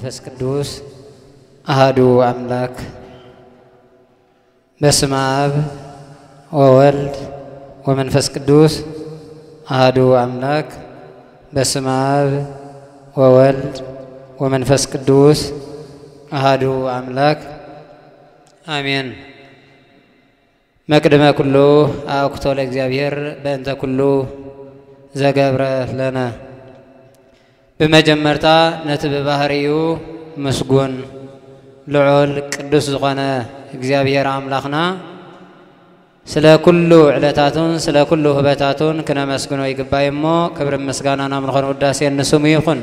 መንፈስ ቅዱስ ኣሃዱ ኣምላክ። በስመ አብ ወወልድ ወመንፈስ ቅዱስ ኣሃዱ አምላክ። በስመ አብ ወወልድ ወመንፈስ ቅዱስ ኣሃዱ አምላክ አሜን። መቅድመ ኩሉ አእኩቶ ለእግዚኣብሔር በእንተ ኩሉ ዘገብረ ለነ። ብመጀመርታ ነቲ ብባህሪኡ ምስጉን ልዑል ቅዱስ ዝኾነ እግዚኣብሔር ኣምላኽና ስለ ኩሉ ዕለታቱን ስለ ኩሉ ህበታቱን ክነመስግኖ ይግባእ እሞ፣ ክብርን ምስጋናን ኣምልኾን ውዳሴን ንስሙ ይኹን።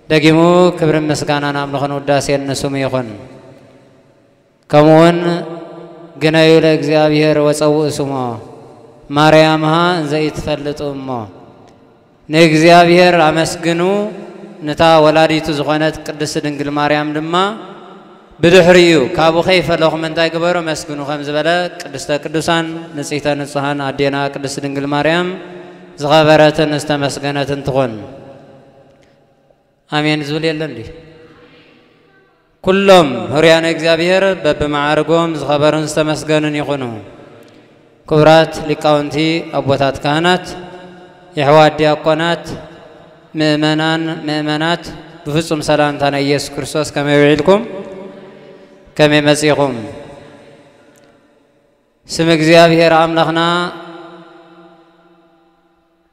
ደጊሙ ክብርን ምስጋናን ኣምልኾን ውዳሴን ንስሙ ይኹን። ከምኡውን ግነዩ ለእግዚኣብሔር ወጸውኡ ስሞ ማርያምሃ እንዘ ኢትፈልጡ እሞ፣ ንእግዚኣብሔር ኣመስግኑ፣ ነታ ወላዲቱ ዝኾነት ቅድስቲ ድንግል ማርያም ድማ ብድሕሪኡ ካብኡ ከይፈለኹም እንታይ ግበሩ? ኣመስግኑ ከም ዝበለ ቅድስተ ቅዱሳን ንጽሕተ ንጹሃን ኣዴና ቅድስቲ ድንግል ማርያም ዝኸበረትን ዝተመስገነትን ትኹን። ኣሜን ዝብል የለን ድዩ? ኩሎም ህሩያነ እግዚኣብሔር በብመዓርጎም ዝኸበሩን ዝተመስገኑን ይኹኑ። ክቡራት ሊቃውንቲ ኣቦታት ካህናት፣ የሕዋት ዲያቆናት፣ ምእመናን ምእመናት፣ ብፍጹም ሰላምታ ናይ ኢየሱስ ክርስቶስ ከመይ ውዒልኩም? ከመይ መጺኹም? ስም እግዚኣብሔር ኣምላኽና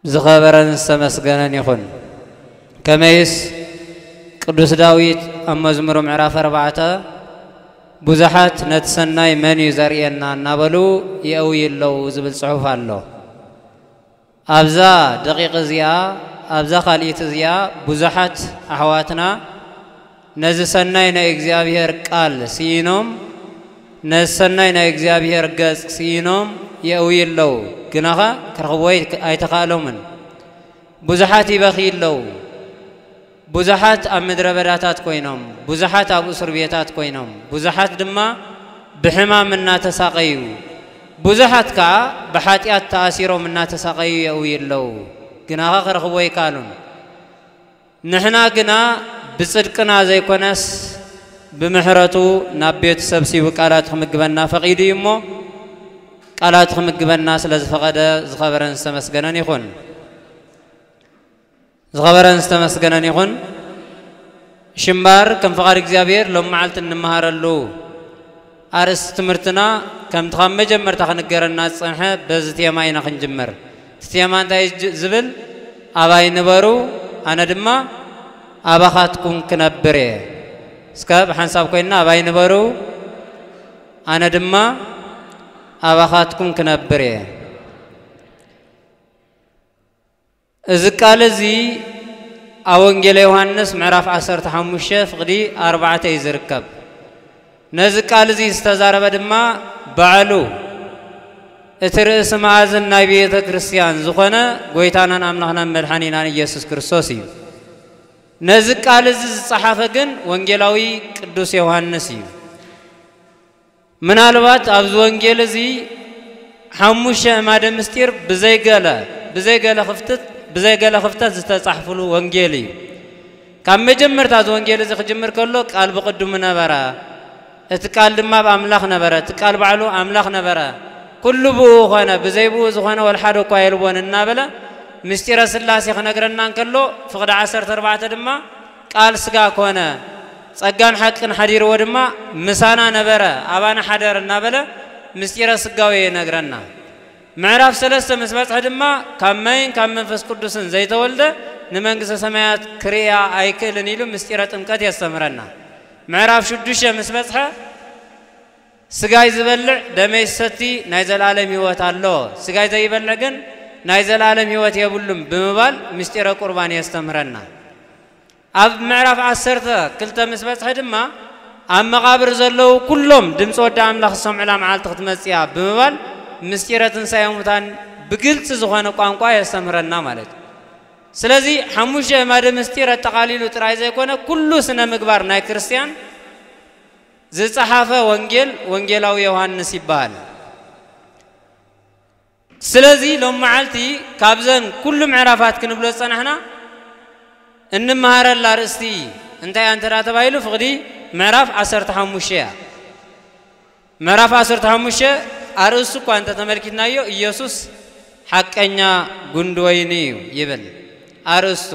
ዝኸበረን ዝተመስገነን ይኹን። ከመይስ ቅዱስ ዳዊት ኣብ መዝሙሩ ምዕራፍ ኣርባዕተ፣ ብዙሓት ነቲ ሰናይ መን እዩ ዘርእየና እናበሉ የእውዩ ኣለዉ ዝብል ጽሑፍ ኣሎ። ኣብዛ ደቂቕ እዚኣ፣ ኣብዛ ካልኢት እዚኣ ብዙሓት ኣሕዋትና ነዚ ሰናይ ናይ እግዚኣብሔር ቃል ስኢኖም፣ ነዚ ሰናይ ናይ እግዚኣብሔር ገጽ ስኢኖም የእውዩ ኣለዉ፣ ግናኸ ክረኽብዎ ኣይት-፣ ኣይተኻእሎምን። ብዙሓት ይበኽዩ ኣለዉ። ብዙሓት ኣብ ምድረ በዳታት ኮይኖም፣ ብዙሓት ኣብ እስር ቤታት ኮይኖም፣ ብዙሓት ድማ ብሕማም እናተሳቐዩ፣ ብዙሓት ከኣ ብሓጢኣት ተኣሲሮም እናተሳቐዩ የእውዩ ኣለዉ፣ ግናኸ ክረኽብዎ ኣይከኣሉን። ንሕና ግና ብጽድቅና ዘይኮነስ ብምሕረቱ ናብ ቤቱ ሰብሲቡ ቃላቱ ክምግበና ፈቒዱ እዩ እሞ፣ ቃላቱ ክምግበና ስለ ዝፈቐደ ዝኸበረን ዝተመስገነን ይኹን። ዝኸበረን ዝተመስገነን ይኹን። ሽምባር ከም ፍቓድ እግዚኣብሔር ሎም መዓልቲ እንመሃረሉ ኣርእስቲ ትምህርትና ከምቲ ካብ መጀመርታ ክንገረና ዝጸንሐ በዚ ቴማ ኢና ክንጅምር። እቲ ቴማ እንታይ እዩ ጅ-፣ ዝብል? ኣባይ ንበሩ፣ ኣነ ድማ ኣባኻትኩም ክነብር እየ። እስከ ብሓንሳብ ኮይንና ኣባይ ንበሩ፣ ኣነ ድማ ኣባኻትኩም ክነብር እየ። እዚ ቃል እዚ ኣብ ወንጌለ ዮሃንስ ምዕራፍ ዓሰርተ ሓሙሽተ ፍቕዲ ኣርባዕተ እዩ ዝርከብ። ነዚ ቃል እዚ ዝተዛረበ ድማ ባዕሉ እቲ ርእሲ መኣዝን ናይ ቤተ ክርስቲያን ዝኾነ ጐይታናን ኣምላኽናን መድሓኒናን ኢየሱስ ክርስቶስ እዩ። ነዚ ቃል እዚ ዝጸሓፈ ግን ወንጌላዊ ቅዱስ ዮሃንስ እዩ። ምናልባት ኣብዚ ወንጌል እዚ ሓሙሽተ ኣዕማደ ምስጢር ብዘይገለ፣ ብዘይገለ ክፍተት፣ ብዘይገለ ክፍተት ዝተጻሕፍሉ ወንጌል እዩ። ካብ መጀመርታ እዚ ወንጌል እዚ ክጅምር ከሎ ቃል ብቕድሙ ነበረ፣ እቲ ቃል ድማ ኣብ ኣምላኽ ነበረ፣ እቲ ቃል ባዕሉ ኣምላኽ ነበረ፣ ኩሉ ብኡ ኾነ፣ ብዘይ ብኡ ዝኾነ ወላ ሓደ እኳ የልቦን እናበለ ምስጢረ ስላሴ ክነግረና እንከሎ ፍቕዲ ዓሰርተ ኣርባዕተ ድማ ቃል ስጋ ኮነ፣ ጸጋን ሓቅን ሓዲርዎ ድማ ምሳና ነበረ፣ ኣባና ሓደረ እናበለ ምስጢረ ስጋዌ ይነግረና። ምዕራፍ ሰለስተ ምስ በጽሐ ድማ ካብ ማይን ካብ መንፈስ ቅዱስን ዘይተወልደ ንመንግስተ ሰማያት ክርእያ ኣይክእልን ኢሉ ምስጢረ ጥምቀት የስተምህረና። ምዕራፍ ሽዱሽተ ምስ በጽሐ ስጋይ ዝበልዕ ደመይ ዝሰቲ ናይ ዘለኣለም ህይወት ኣለዎ፣ ስጋይ ዘይበልዕ ግን ናይ ዘለኣለም ህይወት የብሉን ብምባል ምስጢረ ቁርባን የስተምህረና። ኣብ ምዕራፍ ዓሰርተ ክልተ ምስ በጽሐ ድማ ኣብ መቓብር ዘለዉ ኩሎም ድምፂ ወዲ ኣምላኽ ዝሰምዑላ መዓልቲ ክትመጽእ እያ ብምባል ምስጢረ ትንሳኤ ሙታን ብግልፂ ዝኾነ ቋንቋ የስተምህረና ማለት እዩ። ስለዚ ሓሙሽተ ኣዕማደ ምስጢር ኣጠቓሊሉ ጥራይ ዘይኮነ ኩሉ ስነ ምግባር ናይ ክርስቲያን ዝጸሓፈ ወንጌል ወንጌላዊ ዮሃንስ ይበሃል። ስለዚ ሎም መዓልቲ ካብዘን ኩሉ ምዕራፋት ክንብሎ ዝጸናሕና እንመሃረላ ኣርእስቲ እንታይ እያ እንተ ተባሂሉ፣ ፍቕዲ ምዕራፍ ዓሰርተ ሓሙሽተ እያ። ምዕራፍ ዓሰርተ ሓሙሽተ ኣርእስቱ እኳ እንተ ተመልኪትናዮ፣ ኢየሱስ ሓቀኛ ጉንዲ ወይኒ እዩ ይብል። ኣርእስቱ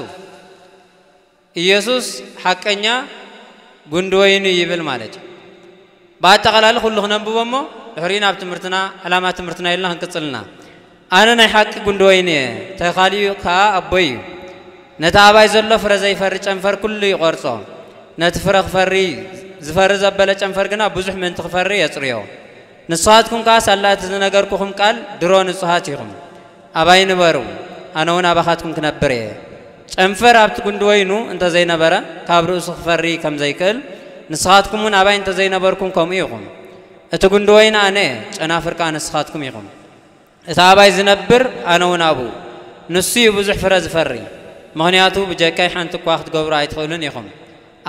ኢየሱስ ሓቀኛ ጉንዲ ወይኒ ይብል ማለት እዩ። ብኣጠቓላሊ ኩሉ ክነንብቦ እሞ፣ ድሕሪኡ ናብ ትምህርትና፣ ዕላማ ትምህርትና ኢልና ክንቅጽልና። ኣነ ናይ ሓቂ ጉንዲ ወይኒ እየ፣ ተኻሊኡ ከኣ ኣቦይ እዩ። ነቲ ኣባይ ዘሎ ፍረ ዘይፈሪ ጨንፈር ኩሉ ይቖርጾ። ነቲ ፍረ ክፈሪ፣ ዝፈሪ ዘበለ ጨንፈር ግና ብዙሕ ምእንቲ ክፈሪ የጽርዮ። ንስኻትኩም ከኣ ሳላ እቲ ዝነገርኩኹም ቃል ድሮ ንጹሃት ኢኹም። ኣባይ ንበሩ፣ ኣነ እውን ኣባኻትኩም ክነብር እየ። ጨንፈር ኣብቲ ጉንዲ ወይኑ እንተ ዘይነበረ፣ ካብ ርእሱ ክፈሪ ከም ዘይክእል፣ ንስኻትኩም እውን ኣባይ እንተ ዘይነበርኩም ከምኡ ኢኹም። እቲ ጉንዲ ወይኒ ኣነ እየ፣ ጨናፍር ከኣ ንስኻትኩም ኢኹም። እቲ ኣባይ ዝነብር፣ ኣነ እውን ኣብኡ፣ ንሱ እዩ ብዙሕ ፍረ ዝፈሪ። ምኽንያቱ ብጀካይ ሓንቲ እኳ ክትገብሩ ኣይትኽእሉን ኢኹም።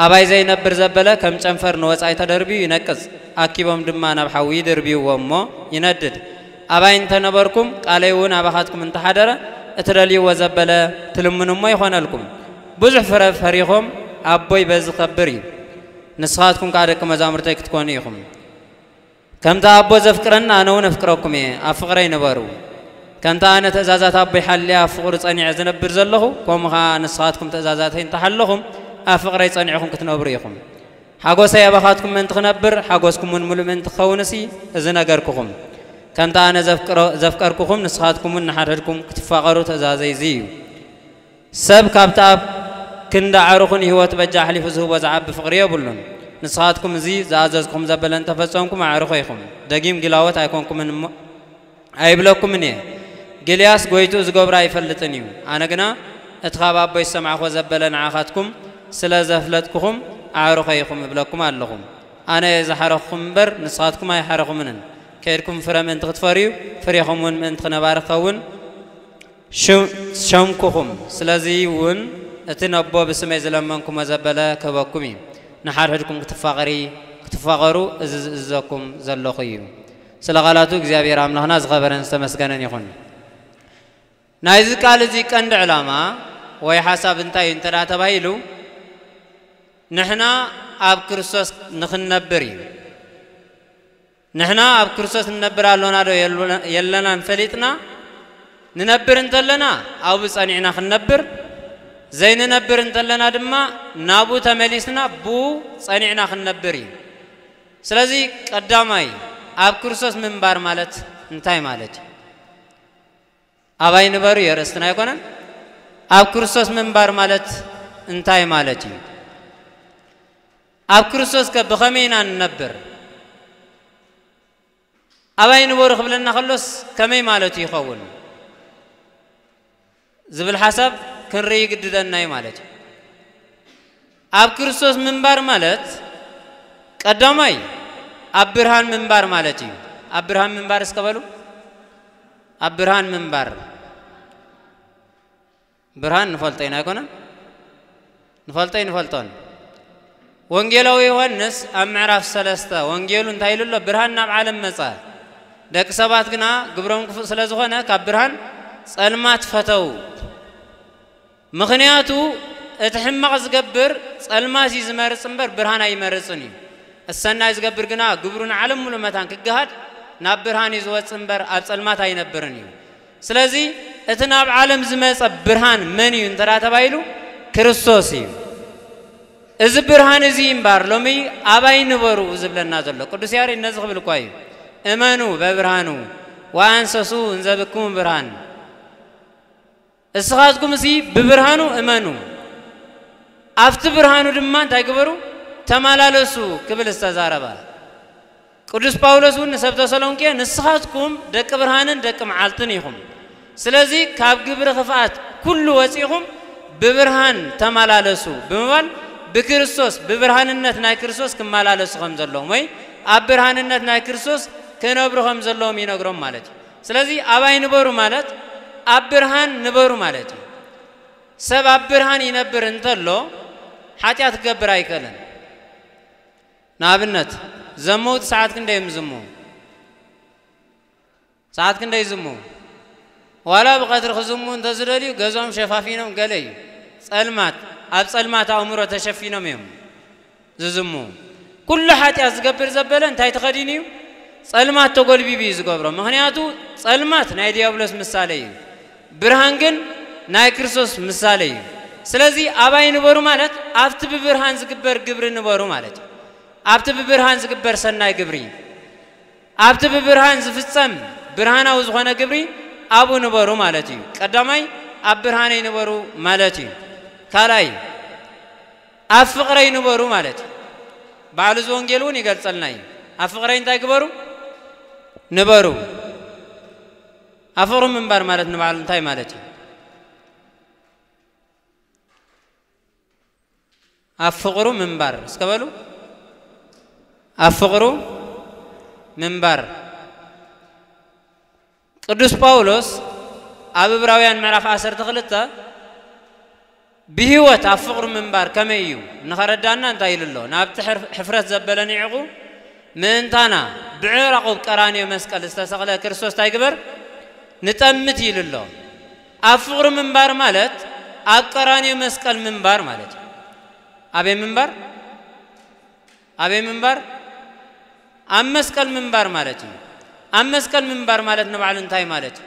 ኣባይ ዘይነብር ዘበለ ከም ጨንፈር ንወጻኢ ተደርብዩ ይነቅጽ፣ ኣኪቦም ድማ ናብ ሓዊ ይድርብይዎ እሞ ይነድድ። ኣባይ እንተነበርኩም፣ ቃለይ እውን ኣባኻትኩም እንተሓደረ፣ እትደልይዎ ዘበለ ትልምኑ እሞ ይኾነልኩም። ብዙሕ ፍረ ፈሪኾም፣ ኣቦይ በዚ ከብር እዩ። ንስኻትኩም ከኣ ደቂ መዛሙርተይ ክትኮኑ ኢኹም። ከምቲ ኣቦ ዘፍቅረኒ፣ ኣነ እውን ኣፍቅረኩም እየ። ኣብ ፍቕረይ ንበሩ። ከምቲ ኣነ ትእዛዛት ኣቦይ ሓልየ ኣብ ፍቕሩ ጸኒዐ ዝነብር ዘለኹ፣ ከምኡ ኸኣ ንስኻትኩም ትእዛዛተይ እንተሓለኹም፣ ኣብ ፍቕረይ ጸኒዕኹም ክትነብሩ ኢኹም። ሓጎሰይ ኣባኻትኩም ምእንቲ ክነብር፣ ሓጎስኩም እውን ምሉእ ምእንቲ ክኸውንሲ፣ እዚ ነገርኩኹም። ከምቲ ኣነ ዘፍቅሮ-፣ ዘፍቀርኩኹም፣ ንስኻትኩም እውን ንሓድሕድኩም ክትፋቐሩ ትእዛዘይ እዚ እዩ። ሰብ ካብቲ ኣብ ክንዲ ኣዕሩኹ ንህይወቱ በጃ ኣሕሊፉ ዝህቦ ዝዓቢ ፍቕሪ የብሉን። ንስኻትኩም እዚ ዝኣዘዝኩኹም ዘበለ እንተፈጸምኩም ኣዕሩኸ ኢኹም። ደጊም ጊላዎት ኣይኮንኩምን እሞ ኣይብለኩምን እየ። ጊልያስ ጐይትኡ ዝገብሮ ኣይፈልጥን እዩ። ኣነ ግና እቲ ካብ ኣቦይ ዝሰማዕኩዎ ዘበለ ንዓኻትኩም ስለ ዘፍለጥኩኹም ኣዕሩኸ ኢኹም እብለኩም ኣለኹ። ኣነ እየ ዝሓረኹኹም እምበር ንስኻትኩም ኣይሓረኹምንን። ከይድኩም ፍረ ምእንቲ ክትፈርዩ፣ ፍሬኹም እውን ምእንቲ ክነባሪ ክኸውን ሽም-፣ ሸምኩኹም። ስለዚ እውን እቲ ነቦ ብስመይ ዝለመንኩሞ ዘበለ ክህበኩም እዩ። ንሓድሕድኩም ክትፋቐሪ-፣ ክትፋቐሩ እዚ ዝእዝዘኩም ዘለኹ እዩ። ስለ ቃላቱ እግዚኣብሔር ኣምላኽና ዝኸበረን ዝተመስገነን ይኹን። ናይዚ ቃል እዚ ቀንዲ ዕላማ ወይ ሓሳብ እንታይ እዩ እንተ ደኣ ተባሂሉ፣ ንሕና ኣብ ክርስቶስ ንኽንነብር እዩ። ንሕና ኣብ ክርስቶስ ንነብር ኣሎና ዶ የሉ-፣ የለናን ፈሊጥና ንነብር እንተለና፣ ኣብኡ ጸኒዕና ክንነብር፣ ዘይንነብር እንተለና ድማ ናብኡ ተመሊስና ብኡ ጸኒዕና ክንነብር እዩ። ስለዚ ቀዳማይ ኣብ ክርስቶስ ምንባር ማለት እንታይ ማለት እዩ? ኣባይ ንበሩ የርእስትና ኣይኮነን። ኣብ ክርስቶስ ምንባር ማለት እንታይ ማለት እዩ? ኣብ ክርስቶስ ከ ብኸመይ ኢና ንነብር? ኣባይ ንበሩ ክብለና ከሎስ ከመይ ማለቱ ይኸውን? ዝብል ሓሳብ ክንርኢ ይግድደና እዩ ማለት እዩ። ኣብ ክርስቶስ ምንባር ማለት ቀዳማይ ኣብ ብርሃን ምንባር ማለት እዩ። ኣብ ብርሃን ምንባር እስከ በሉ። ኣብ ብርሃን ምንባር። ብርሃን ንፈልጦ ኢና ኣይኮነን? ንፈልጦ ንፈልጦን። ወንጌላዊ ዮሃንስ ኣብ ምዕራፍ ሰለስተ ወንጌሉ እንታይ ኢሉ ኣሎ? ብርሃን ናብ ዓለም መጸ፣ ደቂ ሰባት ግና ግብሮም ክፉእ ስለ ዝኾነ ካብ ብርሃን ጸልማት ፈተዉ። ምኽንያቱ እቲ ሕማቕ ዝገብር ጸልማት እዩ ዝመርጽ እምበር ብርሃን ኣይመርጽን እዩ። እቲ ሰናይ ዝገብር ግና ግብሩ ንዓለም ሙሉእ መታን ክገሃድ ናብ ብርሃን እዩ ዝወጽእ እምበር ኣብ ጸልማት ኣይነብርን እዩ። ስለዚ እቲ ናብ ዓለም ዝመጸ ብርሃን መን እዩ እንተ ደኣ ተባሂሉ፣ ክርስቶስ እዩ። እዚ ብርሃን እዚ እምበር ሎሚ ኣባይ ንበሩ ዝብለና ዘሎ። ቅዱስ ያሬድ ነዚ ክብል እኳ እዩ፣ እመኑ በብርሃኑ ወአንሰሱ እንዘ ብክሙ ብርሃን። እስኻትኩም እዚ ብብርሃኑ እመኑ፣ ኣብቲ ብርሃኑ ድማ እንታይ ግበሩ? ተመላለሱ ክብል ዝተዛረበ። ቅዱስ ጳውሎስ እውን ንሰብ ተሰሎንቄ፣ "ንስኻትኩም ደቂ ብርሃንን ደቂ መዓልትን ኢኹም። ስለዚ ካብ ግብሪ ክፍኣት ኩሉ ወጺኹም ብብርሃን ተመላለሱ" ብምባል ብክርስቶስ፣ ብብርሃንነት ናይ ክርስቶስ ክመላለሱ ከም ዘለዎም ወይ ኣብ ብርሃንነት ናይ ክርስቶስ ክነብሩ ከም ዘለዎም ይነግሮም ማለት እዩ። ስለዚ ኣባይ ንበሩ ማለት ኣብ ብርሃን ንበሩ ማለት እዩ። ሰብ ኣብ ብርሃን ይነብር እንተሎ ሓጢኣት ክገብር ኣይክእልን። ንኣብነት ዘመውቲ ሰዓት ክንደይ እዮም ዝዝምዉ? ሰዓት ክንደይ ይዝምዉ? ዋላ ብቐትሪ ክዝምዉ እንተዝደልዩ ገዝኦም ሸፋፊኖም ገለ እዩ። ጸልማት። ኣብ ጸልማት ኣእምሮ ተሸፊኖም እዮም ዝዝሙ። ኩሉ ሓጢኣት ዝገብር ዘበለ እንታይ ተኸዲኑ እዩ? ጸልማት ተጎልቢቡ እዩ ዝገብሮ። ምኽንያቱ ጸልማት ናይ ዲያብሎስ ምሳሌ እዩ፣ ብርሃን ግን ናይ ክርስቶስ ምሳሌ እዩ። ስለዚ ኣባይ ንበሩ ማለት ኣብቲ ብብርሃን ዝግበር ግብሪ ንበሩ ማለት እዩ። ኣብቲ ብብርሃን ዝግበር ሰናይ ግብሪ፣ ኣብቲ ብብርሃን ዝፍጸም ብርሃናዊ ዝኾነ ግብሪ ኣብኡ ንበሩ ማለት እዩ። ቀዳማይ ኣብ ብርሃነይ ንበሩ ማለት እዩ። ካልኣይ ኣብ ፍቕረይ ንበሩ ማለት እዩ። ባዕሉ እዚ ወንጌል እውን ይገልጸልና እዩ። ኣብ ፍቕረይ እንታይ ግበሩ? ንበሩ። ኣብ ፍቕሩ ምንባር ማለት ንባዕሉ እንታይ ማለት እዩ? ኣብ ፍቕሩ ምንባር እስከ በሉ። ኣብ ፍቕሩ ምንባር። ቅዱስ ጳውሎስ ኣብ ዕብራውያን ምዕራፍ ዓሰርተ ክልተ ብህይወት ኣብ ፍቕሩ ምንባር ከመይ እዩ ንኸረዳና እንታይ ኢሉ ኣሎ? ናብቲ ሕር-፣ ሕፍረት ዘበለ ንዒቑ ምእንታና ብዕራቑ ኣብ ቀራንዮ መስቀል ዝተሰቕለ ክርስቶስ እንታይ ግበር? ንጠምት ኢሉ ኣሎ። ኣብ ፍቕሩ ምንባር ማለት ኣብ ቀራንዮ መስቀል ምንባር ማለት እዩ። ኣበይ ምንባር? ኣበይ ምንባር? ኣብ መስቀል ምንባር ማለት እዩ። ኣብ መስቀል ምንባር ማለት ንባዕሉ እንታይ ማለት እዩ?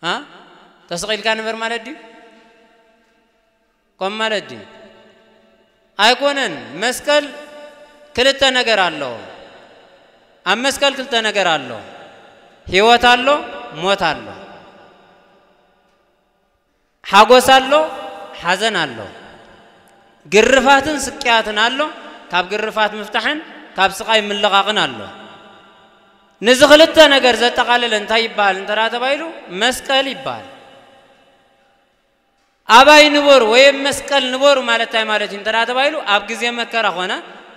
አ? ተሰቒልካ ንበር ማለት ድዩ? ከም ማለት ድዩ? ኣይኮነን። መስቀል ክልተ ነገር ኣሎ። ኣብ መስቀል ክልተ ነገር ኣሎ። ህይወት ኣሎ፣ ሞት ኣሎ። ሓጎስ ኣሎ፣ ሓዘን ኣሎ። ግርፋትን ስቅያትን ኣሎ፣ ካብ ግርፋት ምፍታሕን ካብ ስቓይ ምልቓቕን ኣሎ። ነዚ ክልተ ነገር ዘጠቓለለ እንታይ ይበሃል እንተ ደኣ ተባሂሉ? መስቀል ይበሃል። ኣባይ ንበሩ ወይ ኣብ መስቀል ንበሩ ማለት እንታይ ማለት እዩ እንተ ደኣ ተባሂሉ? ኣብ ግዜ መከራ ኾነ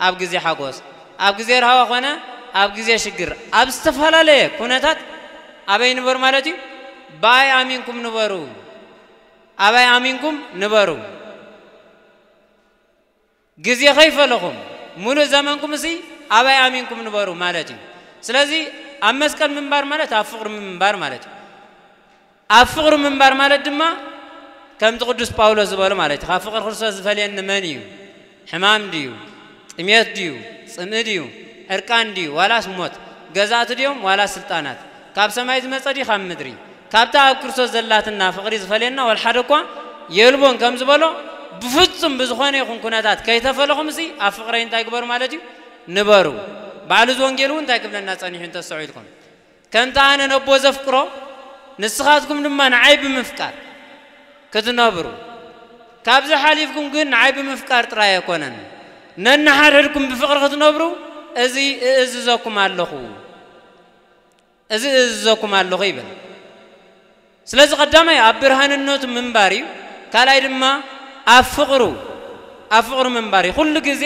ኣብ ግዜ ሓጎስ፣ ኣብ ግዜ ራህዋ ኾነ ኣብ ግዜ ሽግር፣ ኣብ ዝተፈላለየ ኩነታት ኣበይ ንበሩ ማለት እዩ? ብኣይ ኣሚንኩም ንበሩ። ኣባይ ኣሚንኩም ንበሩ። ግዜ ከይፈለኹም፣ ሙሉእ ዘመንኩም እሲ ኣባይ ኣሚንኩም ንበሩ ማለት እዩ። ስለዚ ኣብ መስቀል ምንባር ማለት ኣብ ፍቕሪ ምንባር ማለት እዩ። ኣብ ፍቕሪ ምንባር ማለት ድማ ከምቲ ቅዱስ ጳውሎስ ዝበሎ ማለት እዩ። ካብ ፍቕሪ ክርስቶስ ዝፈልየኒ መን እዩ? ሕማም ድዩ? ጥሜት ድዩ? ጽምኢ ድዩ? ዕርቃን ድዩ? ዋላስ ሞት? ገዛእቲ ድዮም ዋላስ ስልጣናት? ካብ ሰማይ ዝመጸ ድዩ ካብ ምድሪ? ካብታ ኣብ ክርስቶስ ዘላትና ፍቕሪ ዝፈልየና ወላ ሓደ እኳ የልቦን ከም ዝበሎ፣ ብፍጹም ብዝኾነ ይኹን ኩነታት ከይተፈለኹምሲ ኣብ ፍቕረይ እንታይ ግበሩ ማለት እዩ? ንበሩ። ባዕሉ እዚ ወንጌል እውን እንታይ ክብለና ጸኒሑ እንተስተውዒልኩም? ከምቲ ኣነ ነቦ ዘፍቅሮ፣ ንስኻትኩም ድማ ንዓይ ብምፍቃር ክትነብሩ። ካብዚ ሓሊፍኩም ግን ንዓይ ብምፍቃር ጥራይ ኣይኮነን፣ ነንሓድሕድኩም ብፍቕሪ ክትነብሩ እዚ እእዝዘኩም ኣለኹ። እዚ እእዝዘኩም ኣለኹ ይብል። ስለዚ ቀዳማይ ኣብ ብርሃንነቱ ምንባር እዩ። ካልኣይ ድማ ኣብ ፍቕሩ፣ ኣብ ፍቕሩ ምንባር እዩ። ኩሉ ግዜ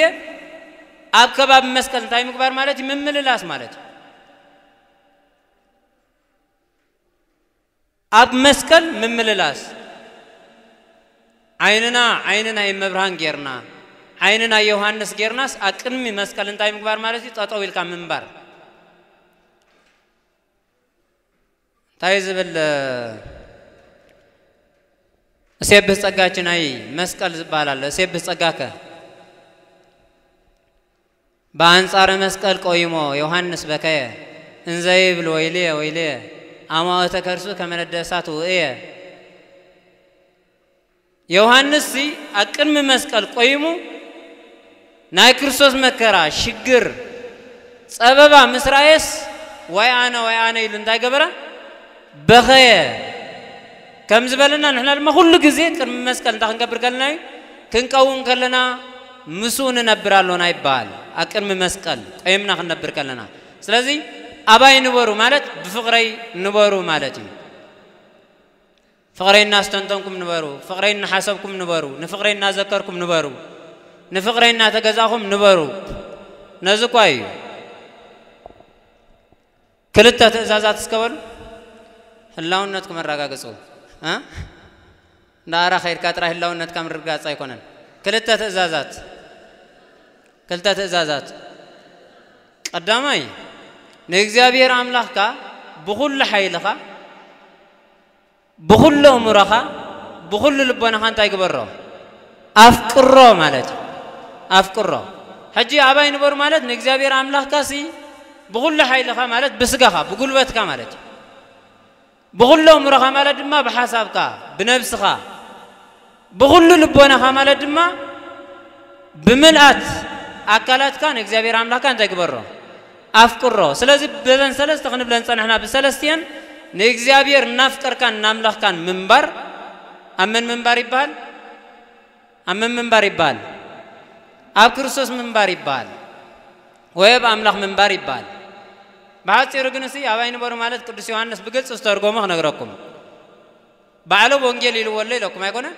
ኣብ ከባቢ መስቀል እንታይ ምግባር ማለት እዩ? ምምልላስ ማለት እዩ። ኣብ መስቀል ምምልላስ። ዓይንና ዓይኒ ናይ እመብርሃን ጌርና፣ ዓይኒ ናይ ዮሃንስ ጌርናስ ኣብ ቅድሚ መስቀል እንታይ ምግባር ማለት እዩ? ጠጠው ኢልካ ምንባር። እንታይ ዝብል፣ እሴብህ ጸጋች ናይ መስቀል ዝበሃል ኣሎ። እሴብህ ጸጋከ። በአንጻረ መስቀል ቆይሞ ዮሐንስ በከየ እንዘ ይብል ወይልየ ወይልየ አማኦተ ከርሱ ከመ ነደ እሳት ውእየ። ዮሐንስ ሲ ኣብ ቅድሚ መስቀል ቆይሙ ናይ ክርስቶስ መከራ፣ ሽግር፣ ጸበባ ምስ ረኣየስ ዋይ ኣነ ዋይ ኣነ ኢሉ እንታይ ገበረ? በኸየ። ከም ዝበለና ንሕና ድማ ኩሉ ግዜ ቅድሚ መስቀል እንታይ ክንገብር ከለና እዩ? ክንቀውም ከለና ምስኡ ንነብር ኣሎና ይበሃል። ኣብ ቅድሚ መስቀል ቆይምና ክንነብር ከለና። ስለዚ ኣባይ ንበሩ ማለት ብፍቕረይ ንበሩ ማለት እዩ። ፍቕረይ እናስተንተንኩም ንበሩ፣ ፍቕረይ እናሓሰብኩም ንበሩ፣ ንፍቕረይ እናዘከርኩም ንበሩ፣ ንፍቕረይ እናተገዛእኹም ንበሩ። ነዚ እኳ እዩ። ክልተ ትእዛዛት እስከ በሉ። ህላውነትኩም ኣረጋግጹ። እ? እንዳ ኣራ ከይድካ ጥራይ ህላውነትካ ምርግጋጽ ኣይኮነን። ክልተ ትእዛዛት። ክልተ ትእዛዛት። ቀዳማይ፣ ንእግዚኣብሔር ኣምላኽካ ብኹሉ ሓይልኻ፣ ብኹሉ ኣእምሮኻ፣ ብኹሉ ልቦናኻ እንታይ ግበሮ? ኣፍቅሮ ማለት እዩ። ኣፍቅሮ። ሕጂ ኣባይ ንበሩ ማለት ንእግዚኣብሔር ኣምላኽካ ሲ ብኹሉ ሓይልኻ ማለት ብስጋኻ፣ ብጉልበትካ ማለት እዩ። ብኹሉ ኣእምሮኻ ማለት ድማ ብሓሳብካ፣ ብነብስኻ፣ ብኹሉ ልቦናኻ ማለት ድማ ብምልኣት ኣካላትካ ንእግዚኣብሔር ኣምላኽካ እንታይ ግበሮ? ኣፍቅሮ። ስለዚ በዘን ሰለስተ ክንብለን ጸናሕና፣ ብሰለስቲአን ንእግዚኣብሔር እናፍቀርካን እናምለኽካን ምንባር፣ ኣብ መን ምንባር ይበሃል? ኣብ መን ምንባር ይበሃል? ኣብ ክርስቶስ ምንባር ይበሃል፣ ወይ ኣብ ኣምላኽ ምንባር ይበሃል። ብሓጺሩ ግን እሲ ኣባይ ንበሩ ማለት ቅዱስ ዮሃንስ ብግልጺ ዝተርጎሞ ክነግረኩም። ባዕሉ ወንጌል ኢልዎ ኣሎ ኢለኩም ኣይኮነን?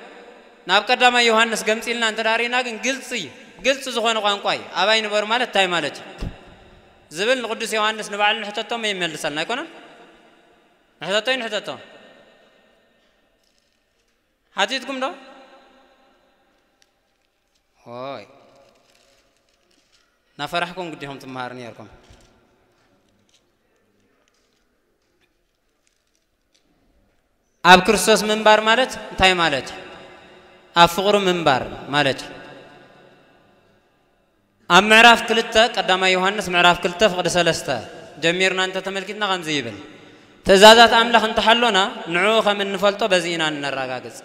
ናብ ቀዳማይ ዮሃንስ ገምጺልና እንተ ደኣ ርኢና ግን ግልጺ፣ ግልጺ ዝኾነ ቋንቋ እዩ። ኣባይ ንበሩ ማለት እንታይ ማለት እዩ? ዝብል ንቅዱስ ዮሃንስ ንባዕሉ ንሕተቶ እሞ ይመልሰልና ኣይኮነን? ንሕተቶ እዩ ንሕተቶ። ሓቲትኩም ዶ? ሆይ። ናፈራሕኩም ግዲኹም ትመሃሩ ነይርኩም። ኣብ ክርስቶስ ምንባር ማለት እንታይ ማለት እዩ? ኣብ ፍቕሩ ምንባር ማለት እዩ። ኣብ ምዕራፍ ክልተ፣ ቀዳማይ ዮሃንስ ምዕራፍ ክልተ ፍቕዲ ሰለስተ ጀሚርና እንተ ተመልኪትና ከምዚ ይብል፣ ትእዛዛት ኣምላኽ እንተሓሎና ንዕኡ ከም እንፈልጦ በዚ ኢና እነረጋግጽ።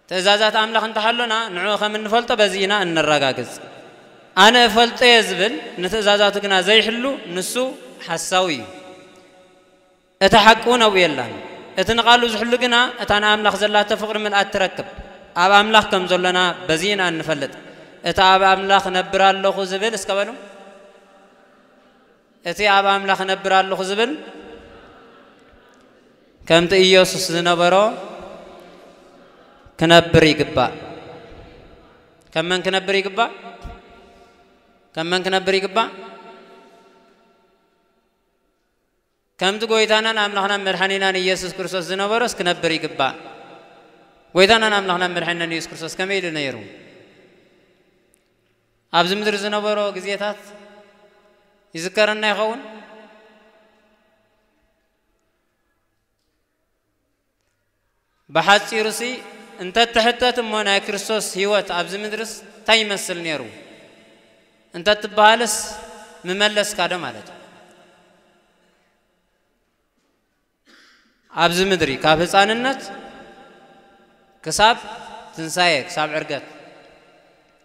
ትእዛዛት ኣምላኽ እንተሓሎና ንዕኡ ከም እንፈልጦ በዚ ኢና እነረጋግጽ። ኣነ እፈልጦ እየ ዝብል ንትእዛዛቱ ግና ዘይሕሉ ንሱ ሓሳዊ እዩ። እታ ሓቂ እውን ኣብኡ የላን። እቲ ንቓሉ ዝሕሉ ግና እታ ንኣምላኽ ዘላቶ ፍቕሪ ምልኣት ትረክብ። ኣብ ኣምላኽ ከም ዘሎና በዚ ኢና እንፈልጥ። እቲ ኣብ ኣምላኽ እነብር ኣለኹ ዝብል እስከ በሉ። እቲ ኣብ ኣምላኽ እነብር ኣለኹ ዝብል ከምቲ ኢየሱስ ዝነበሮ ክነብር ይግባእ። ከም መን ክነብር ይግባእ? ከም መን ክነብር ይግባእ? ከምቲ ጎይታናን ኣምላኽናን መድሓኒናን ኢየሱስ ክርስቶስ ዝነበሮስ ክነብር ይግባእ። ጎይታናን ኣምላኽናን መድሓኒናን ኢየሱስ ክርስቶስ ከመይ ኢሉ ነይሩ? ኣብዚ ምድሪ ዝነበሮ ግዜታት ይዝከረና ይኸውን? ብሓጺሩሲ እንተትሕተት እሞ ናይ ክርስቶስ ህይወት ኣብዚ ምድርስ እንታይ ይመስል ነይሩ እንተትበሃልስ ምመለስካ ዶ ማለት እዩ? ኣብዚ ምድሪ ካብ ህፃንነት ክሳብ ትንሳኤ፣ ክሳብ ዕርገት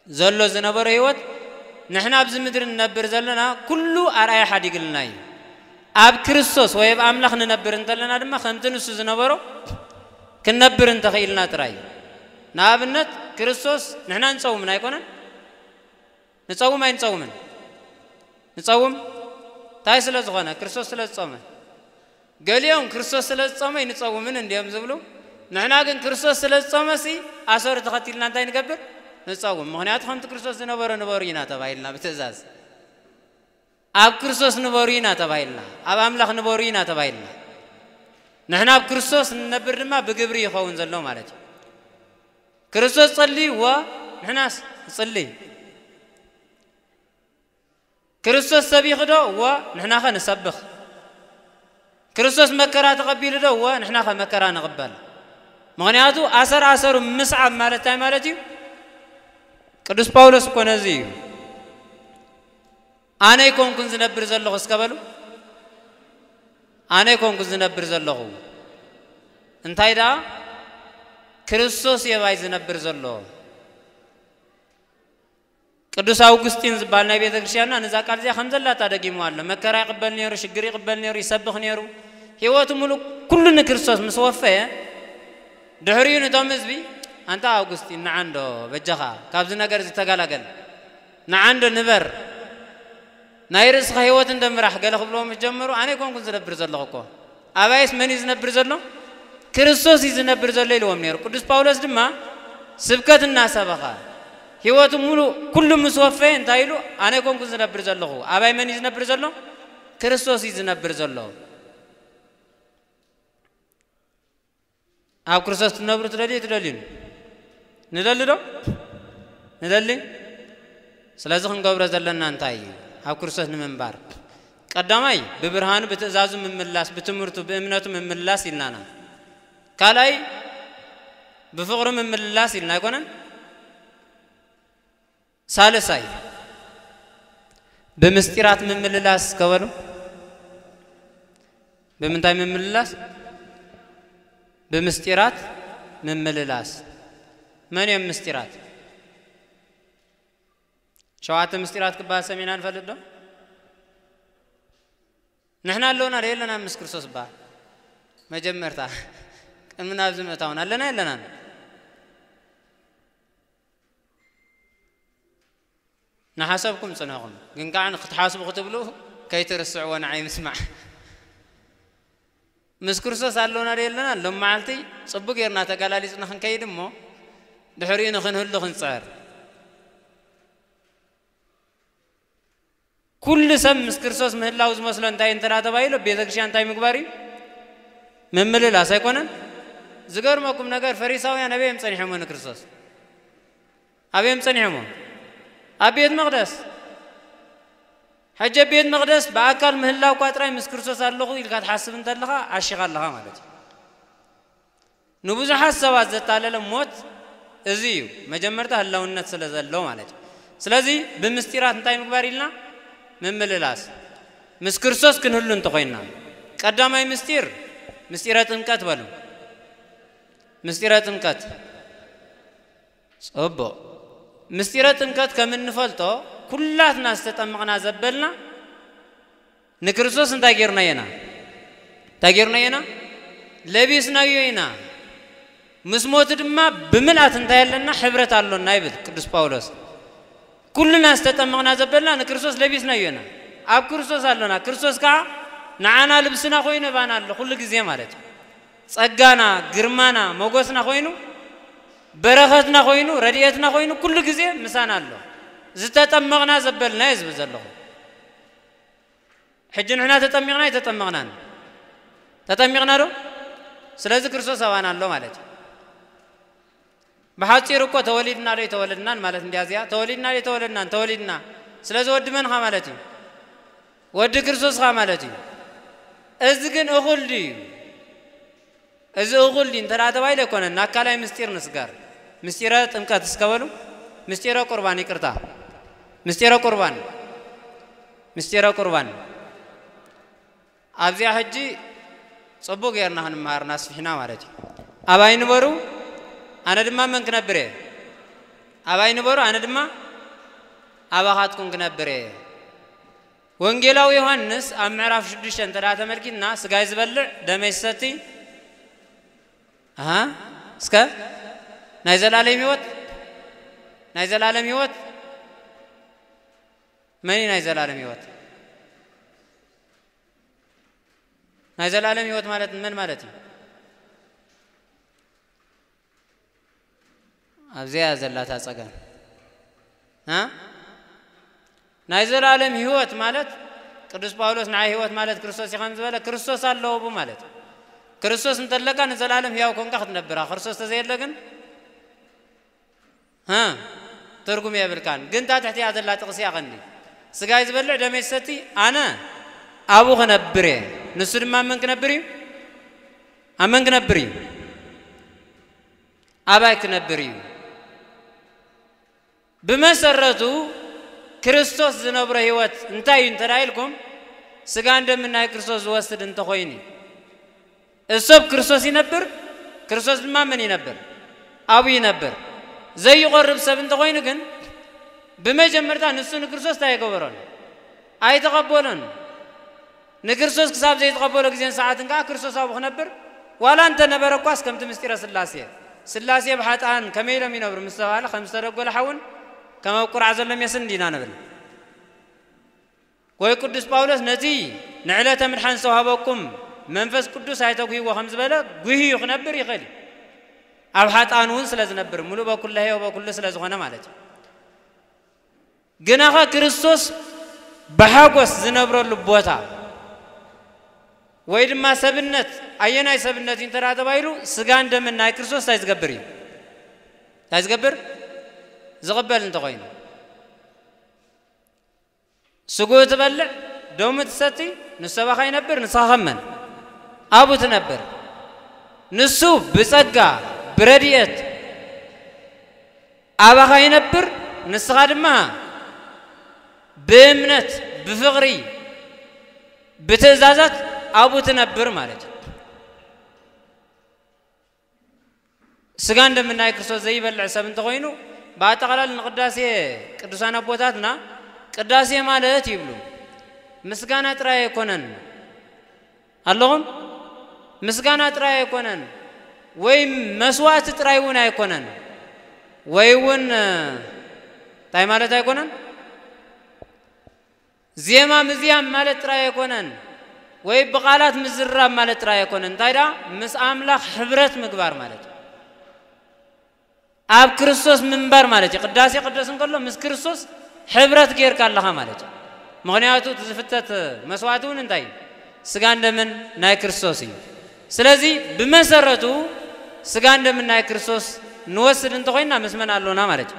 ዘሎ ዝነበረ ህይወት ንሕና ኣብዚ ምድሪ ንነብር ዘለና ኩሉ ኣርኣያ ሓዲግልና እዩ። ኣብ ክርስቶስ ወይ ኣብ ኣምላኽ ንነብር እንተለና ድማ ከምቲ ንሱ ዝነበሮ ክንነብር እንተኽኢልና ጥራይ እዩ። ንኣብነት ክርስቶስ ንሕና ንጸውምን ኣይኮነን? ንጸውም ኣይንጸውምን? ንጸውም። እንታይ ስለ ዝኾነ? ክርስቶስ ስለ ዝጾመ። ገሊኦም ክርስቶስ ስለ ዝጾመ ኣይንጸውምን እንዲዮም ዝብሉ። ንሕና ግን ክርስቶስ ስለ ዝጾመሲ ኣሰሩ ተኸቲልና እንታይ ንገብር? ንጸውም። ምኽንያቱ ከምቲ ክርስቶስ ዝነበሮ ንበሩ ኢና ተባሂልና ብትእዛዝ። ኣብ ክርስቶስ ንበሩ ኢና ተባሂልና። ኣብ ኣምላኽ ንበሩ ኢና ተባሂልና። ንሕና ኣብ ክርስቶስ ንነብር ድማ ብግብሪ ይኸውን ዘሎ ማለት እዩ። ክርስቶስ ጸልዩ፣ እወ፣ ንሕናስ ንጽሊ። ክርስቶስ ሰቢኹ ዶ? እወ፣ ንሕናኸ ንሰብኽ። ክርስቶስ መከራ ተቐቢሉ ዶ? እወ፣ ንሕናኸ መከራ ንቕበል። ምኽንያቱ ኣሰር ኣሰሩ ምስዓብ ማለት እንታይ ማለት እዩ? ቅዱስ ጳውሎስ እኮ ነዚ እዩ። ኣነ ኣይኮንኩን ዝነብር ዘለኹ እስከ በሉ። ኣነ ኣይኮንኩን ዝነብር ዘለኹ። እንታይ ደኣ? ክርስቶስ የባይ ዝነብር ዘሎ። ቅዱስ ኣውግስጢን ዝበሃል ናይ ቤተ ክርስቲያንና ነዛ ቃል እዚኣ ከም ዘላታ ደጊሙ ኣሎ። መከራ ይቕበል ነይሩ፣ ሽግር ይቕበል ነይሩ፣ ይሰብኽ ነይሩ። ህይወቱ ሙሉእ ኩሉ ንክርስቶስ ምስ ወፈየ፣ ድሕሪኡ ነቶም ህዝቢ፣ "ኣንታ ኣውግስጢን፣ ንዓ እንዶ በጃኻ ካብዚ ነገር እዚ ተገላገል። ንዓ እንዶ ንበር። ናይ ርእስኻ ህይወት እንዶ ምራሕ" ገለ ክብልዎም ምስ ጀመሩ፣ "ኣነ ኣይኮንኩን ዝነብር ዘለኹ እኮ። ኣባይስ መን እዩ ዝነብር ዘሎ? ክርስቶስ እዩ ዝነብር ዘሎ" ኢልዎም ነይሩ። ቅዱስ ጳውሎስ ድማ ስብከት እናሰበኸ፣ ህይወቱ ሙሉእ ኩሉ ምስ ወፈየ እንታይ ኢሉ? "ኣነ ኣይኮንኩን ዝነብር ዘለኹ። ኣባይ መን እዩ ዝነብር ዘሎ? ክርስቶስ እዩ ዝነብር ዘሎ።" ኣብ ክርስቶስ ትነብሩ ትደልዩ ትደልዩን? ንደሊ ዶ? ንደሊ? ስለዚ ክንገብሮ ዘለና እንታይ እዩ? ኣብ ክርስቶስ ንምንባር። ቀዳማይ፣ ብብርሃኑ፣ ብትእዛዙ ምምላስ፣ ብትምህርቱ፣ ብእምነቱ ምምላስ ኢልናና። ካልኣይ፣ ብፍቕሪ ምምልላስ ኢልና ኣይኮነን። ሳልሳይ፣ ብምስጢራት ምምልላስ ከበሉ። ብምንታይ ምምልላስ? ብምስጢራት ምምልላስ። መን እዮም ምስጢራት? ሸዋተ ምስጢራት ክበሃል ሰሚዕና ንፈልጥ ዶ? ንሕና ኣለውና ዶ የለና ምስ ክርስቶስ በሃል? መጀመርታ ቅድሚ ናብዚ ምእታውን ኣለና የለናን? ንሓሰብኩም ጽንሕኹም፣ ግን ከዓ ክትሓስቡ ክትብሉ ከይትርስዕዎ ንዓይ ምስማዕ። ምስ ክርስቶስ ኣለውና ዶ የለና? ሎም መዓልቲ ጽቡቅ ጌርና ተጋላሊጽና ክንከይድ እሞ፣ ድሕሪኡ ንኽንህሉ ክንጽዕር። ኩሉ ሰብ ምስ ክርስቶስ ምህላው ዝመስሎ እንታይ እንተ ተባሂሉ፣ ቤተ ክርስቲያን እንታይ ምግባር እዩ? ምምልላስ ኣይኮነን? ዝገርመኩም ነገር፣ ፈሪሳውያን ኣበይ እዮም ጸኒሖም ንክርስቶስ? ኣበይ እዮም ጸኒሖም? ኣብ ቤት መቕደስ። ሕጂ ኣብ ቤት መቕደስ ብኣካል ምህላው እኳ ጥራይ ምስ ክርስቶስ ኣለኹ ኢልካ ትሓስብ እንተለኻ፣ ዓሺኻ ኣለኻ ማለት እዩ። ንብዙሓት ሰባት ዘታለለ ሞት እዚ እዩ። መጀመርታ ህላውነት ስለ ዘሎ ማለት እዩ። ስለዚ ብምስጢራት እንታይ ምግባር ኢልና? ምምልላስ። ምስ ክርስቶስ ክንህሉ እንተኾይንና፣ ቀዳማይ ምስጢር፣ ምስጢረ ጥምቀት በሉ። ምስጢረ ጥምቀት። ጽቡቕ። ምስጢረ ጥምቀት ከም እንፈልጦ፣ ኩላትና ዝተጠመቕና ዘበልና ንክርስቶስ እንታይ ጌርናዮ ኢና? እንታይ ጌርናዮ ኢና? ለቢስናዮ ኢና። ምስ ሞቱ ድማ ብምልኣት እንታይ ኣለና? ሕብረት ኣሎና ይብል ቅዱስ ጳውሎስ። ኩልና ዝተጠመቕና ዘበልና ንክርስቶስ ለቢስናዮ ኢና። ኣብ ክርስቶስ ኣሎና። ክርስቶስ ከዓ ንዓና ልብስና ኮይኑ ባና ኣሎ ኩሉ ግዜ ማለት እዩ። ጸጋና፣ ግርማና፣ ሞገስና ኮይኑ፣ በረኸትና ኮይኑ፣ ረድኤትና ኮይኑ ኩሉ ግዜ ምሳና ኣሎ። ዝተጠመቕና ዘበልና እየ ዝብል ዘለኹ። ሕጂ ንሕና ተጠሚቕና ኣይተጠመቕናን? ተጠሚቕና ዶ? ስለዚ ክርስቶስ ኣባና ኣሎ ማለት እዩ። ብሓጺሩ እኮ ተወሊድና ዶ ኣይተወለድናን ማለት እንድያ እዚኣ። ተወሊድና ዶ ኣይተወለድናን? ተወሊድና። ስለዚ ወዲ መን ኢኻ ማለት እዩ? ወዲ ክርስቶስ ኢኻ ማለት እዩ። እዚ ግን እኹል ድዩ? እዚ እኹል ድዩ እንተ ደኣ ተባሂሉ ኣይኮነን። ኣካላይ ምስጢር ንስገር። ምስጢረ ጥምቀት እስከ በሉ። ምስጢረ ቁርባን፣ ይቅርታ። ምስጢረ ቁርባን። ምስጢረ ቁርባን። ኣብዚኣ ሕጂ ጽቡቕ ጌርና ክንመሃር እናስፊሕና ማለት እዩ። ኣባይ ንበሩ፣ ኣነ ድማ መን ክነብር እየ? ኣባይ ንበሩ፣ ኣነ ድማ ኣባኻትኩም ክነብር እየ። ወንጌላዊ ዮሃንስ ኣብ ምዕራፍ ሽዱሽተ እንተ ደኣ ተመልኪትና፣ ስጋይ ዝበልዕ ደመይ ዝሰቲ፣ ኣሃ፣ እስከ ናይ ዘላለም ህይወት፣ ናይ ዘላለም ህይወት፣ መን እዩ ናይ ዘላለም ህይወት? ናይ ዘላለም ህይወት ማለት መን ማለት እዩ? ኣብዚኣ ዘላታ ጸገም። እ? ናይ ዘላለም ህይወት ማለት ቅዱስ ጳውሎስ ንዓይ ህይወት ማለት ክርስቶስ እዩ ከም ዝበለ፣ ክርስቶስ ኣለዎ ቡ ማለት እዩ። ክርስቶስ እንተለካ ንዘላለም ህያው ኮንካ ክትነብር ኢኻ። ክርስቶስ ተዘየለ ግን፣ እ? ትርጉም የብልካን። ግን እታ ትሕቲኣ ዘላ ጥቕሲ እያ ቀንዲ። ስጋይ ዝበልዕ ደመይ ዝሰቲ ኣነ ኣብኡ ክነብር እየ፣ ንሱ ድማ ኣብ መን ክነብር እዩ? ኣብ መን ክነብር እዩ? ኣባይ ክነብር እዩ። ብመሰረቱ ክርስቶስ ዝነብሮ ህይወት እንታይ እዩ እንተ ኢልኩም፣ ስጋን ደምን ናይ ክርስቶስ ዝወስድ እንተኾይኑ እዩ። እዚ ሰብ ክርስቶስ ይነብር፣ ክርስቶስ ድማ መን ይነብር? ኣብኡ ይነብር። ዘይቆርብ ሰብ እንተኾይኑ ግን፣ ብመጀመርታ ንሱ ንክርስቶስ እንታይ ኣይገበሮን? ኣይተቐበሎን። ንክርስቶስ ክሳብ ዘይተቐበሎ ግዜን ሰዓትን ከኣ ክርስቶስ ኣብኡ ክነብር ዋላ እንተ ነበረ እኳስ፣ ከምቲ ምስጢረ ስላሴ፣ ስላሴ ብሓጥኣን ከመይ ኢሎም ይነብሩ ምስ ተባህለ፣ ከም ዝተደጎለ ሓውን ከም ኣብ ቁራዕ ዘሎ ሜስን እንዲና ንብል። ወይ ቅዱስ ጳውሎስ ነቲ ንዕለተ ምድሓን ዝተዋህበኩም መንፈስ ቅዱስ ኣይተጉህይዎ ከም ዝበለ፣ ጉህዩ ክነብር ይኽእል እዩ። ኣብ ሓጥኣን እውን ስለ ዝነብር፣ ምሉእ በኩለሄ ወበኩሉ ስለ ዝኾነ ማለት እዩ። ግናኸ ክርስቶስ ብሓጎስ ዝነብረሉ ቦታ ወይ ድማ ሰብነት፣ ኣየናይ ሰብነት እዩ እንተ ደኣ ተባሂሉ፣ ስጋን ደምን ናይ ክርስቶስ እንታይ ዝገብር እዩ? እንታይ ዝገብር? ዝቕበል እንተኾይኑ። ስግኡ ትበልዕ፣ ደሙ ትሰቲ፣ ንሱ ኣባኻ ይነብር፣ ንስኻ ከም መን? ኣብኡ ትነብር። ንሱ ብጸጋ፣ ብረድኤት ኣባኻ ይነብር፣ ንስኻ ድማ ብእምነት፣ ብፍቕሪ፣ ብትእዛዛት ኣብኡ ትነብር ማለት እዩ። ስጋን ደምን ናይ ክርስቶስ ዘይበልዕ ሰብ እንተኾይኑ፣ ብኣጠቓላሊ ንቅዳሴ ቅዱሳን ኣቦታትና ቅዳሴ ማለት ይብሉ፣ ምስጋና ጥራይ ኣይኮነን። ኣለኹም? ምስጋና ጥራይ ኣይኮነን፣ ወይ መስዋዕቲ ጥራይ እውን ኣይኮነን፣ ወይ እውን እንታይ ማለት ኣይኮነን? ዜማ ምዝያም ማለት ጥራይ ኣይኮነን፣ ወይ ብቓላት ምዝራብ ማለት ጥራይ ኣይኮነን። እንታይ ደኣ? ምስ ኣምላኽ ሕብረት ምግባር ማለት እዩ። ኣብ ክርስቶስ ምንባር ማለት እዩ። ቅዳሴ ቅደስ እንከሎ ምስ ክርስቶስ ሕብረት ጌርካ ኣለኻ ማለት እዩ። ምኽንያቱ እቲ ዝፍተት መስዋዕቲ እውን እንታይ እዩ? ስጋን ደምን ናይ ክርስቶስ እዩ። ስለዚ ብመሰረቱ ስጋን ደምን ናይ ክርስቶስ ንወስድ እንተኾይንና ምስ መን ኣሎና ማለት እዩ?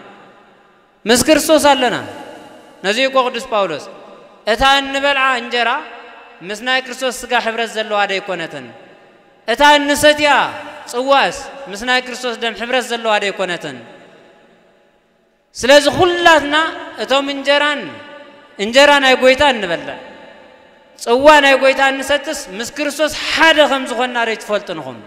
ምስ ክርስቶስ ኣለና። ነዚ እኮ ቅዱስ ጳውሎስ፣ እታ እንበልዓ እንጀራ ምስ ናይ ክርስቶስ ስጋ ሕብረት ዘለዋ ደይኮነትን፣ እታ እንሰትያ ጽዋእስ ምስ ናይ ክርስቶስ ደም ሕብረት ዘለዋ ደይኮነትን? ስለዚ ኩላትና እቶም እንጀራን፣ እንጀራ ናይ ጎይታ እንበልዕ፣ ጽዋ ናይ ጎይታ እንሰትስ ምስ ክርስቶስ ሓደ ከም ዝኾንና ደይትፈልጡን ኢኹም።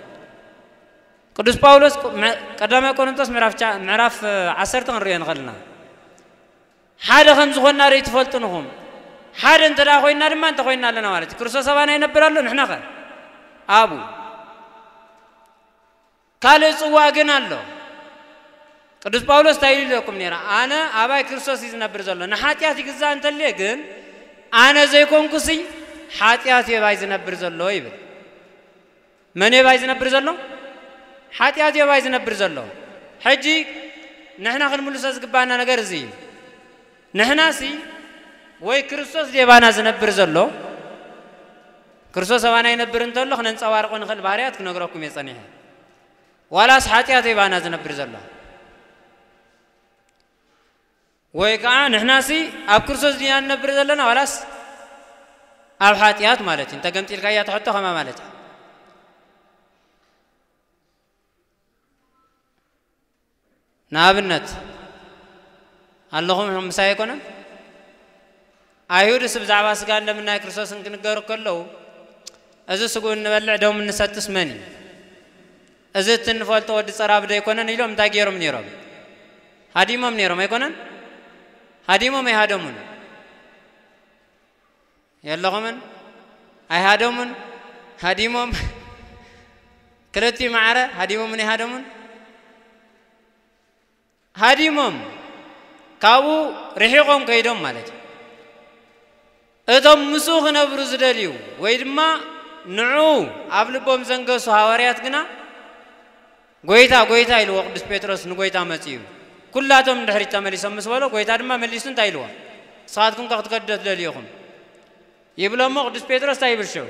ቅዱስ ጳውሎስ ቁ-፣ መ-፣ ቀዳማይ ቆሮንቶስ ምዕራፍ ቻ-፣ ምዕራፍ ዓሰርተ ክንሪኦ ንኽእል ኢና። ሓደ ከም ዝኾንና ደይትፈልጡን ኢኹም። ሓደ እንተ ደኣ ኮይንና ድማ እንተ ኮይንና ኣለና ማለት እዩ። ክርስቶስ ኣባና ይነብር ኣሎ፣ ንሕና ኸ ኣብኡ። ካልእ ጽዋእ ግን ኣሎ። ቅዱስ ጳውሎስ እንታይ ኢሉ ኢለኩም ነይራ? ኣነ ኣባይ ክርስቶስ እዩ ዝነብር ዘሎ። ንሓጢኣት ይግዛእ እንተልየ ግን ኣነ ዘይኮንኩሲ ሓጢኣት እዩ ኣባይ ዝነብር ዘሎ ይብል። መን እዩ ኣባይ ዝነብር ዘሎ? ሓጢኣት እዩ ኣባይ ዝነብር ዘሎ። ሕጂ ንሕና ክንምልሶ ዝግባኣና ነገር እዚ እዩ። ንሕናሲ ወይ ክርስቶስ ድዩ ኣባና ዝነብር ዘሎ? ክርስቶስ ኣባና ይነብር እንተሎ ክነንጸባርቆ ንኽእል ባህርያት ክነግረኩም እየ ጸኒሐ። ዋላስ ሓጢኣት እዩ ኣባና ዝነብር ዘሎ? ወይ ከዓ ንሕናሲ ኣብ ክርስቶስ ድና ንነብር ዘለና ዋላስ ኣብ ሓጢኣት ማለት እዩ። እንተ ገምጢልካያ ትሕቶ ከማ ማለት እዩ። ንኣብነት ኣለኹም ምሳይ ኣይኮነን? ኣይሁድስ ብዛዕባ ስጋ እንደምን ናይ ክርስቶስን ክንገሩ ከለዉ እዚ ስግኡ እንበልዕ ደሙ እንሰትስ መን እዩ? እዚ እቲ እንፈልጦ ወዲ ጸራቢ ዶ ኣይኮነን ኢሎም እንታይ ገይሮም ነይሮም? ሃዲሞም ነይሮም ኣይኮነን? ሃዲሞም ኣይሃደሙን? የለኹምን? ኣይሃደሙን? ሃዲሞም ክልቲኡ ማዕረ ሃዲሞምን ኣይሃደሙን? ሃዲሞም ካብኡ ርሒቖም ከይዶም ማለት እዩ። እቶም ምስኡ ክነብሩ ዝደልዩ ወይ ድማ ንዕኡ ኣብ ልቦም ዘንገሱ ሃዋርያት ግና ጎይታ፣ ጎይታ ኢልዎ ቅዱስ ጴጥሮስ ንጎይታ መጺኡ። ኩላቶም ንድሕሪት ተመሊሶም ምስ በሎ፣ ጎይታ ድማ መሊሱ እንታይ ኢልዎ? ንስኻትኩም ከ ክትከዱ ዶ ትደልዩ ኢኹም? ይብሎ እሞ ቅዱስ ጴጥሮስ እንታይ ይብል ሽዑ?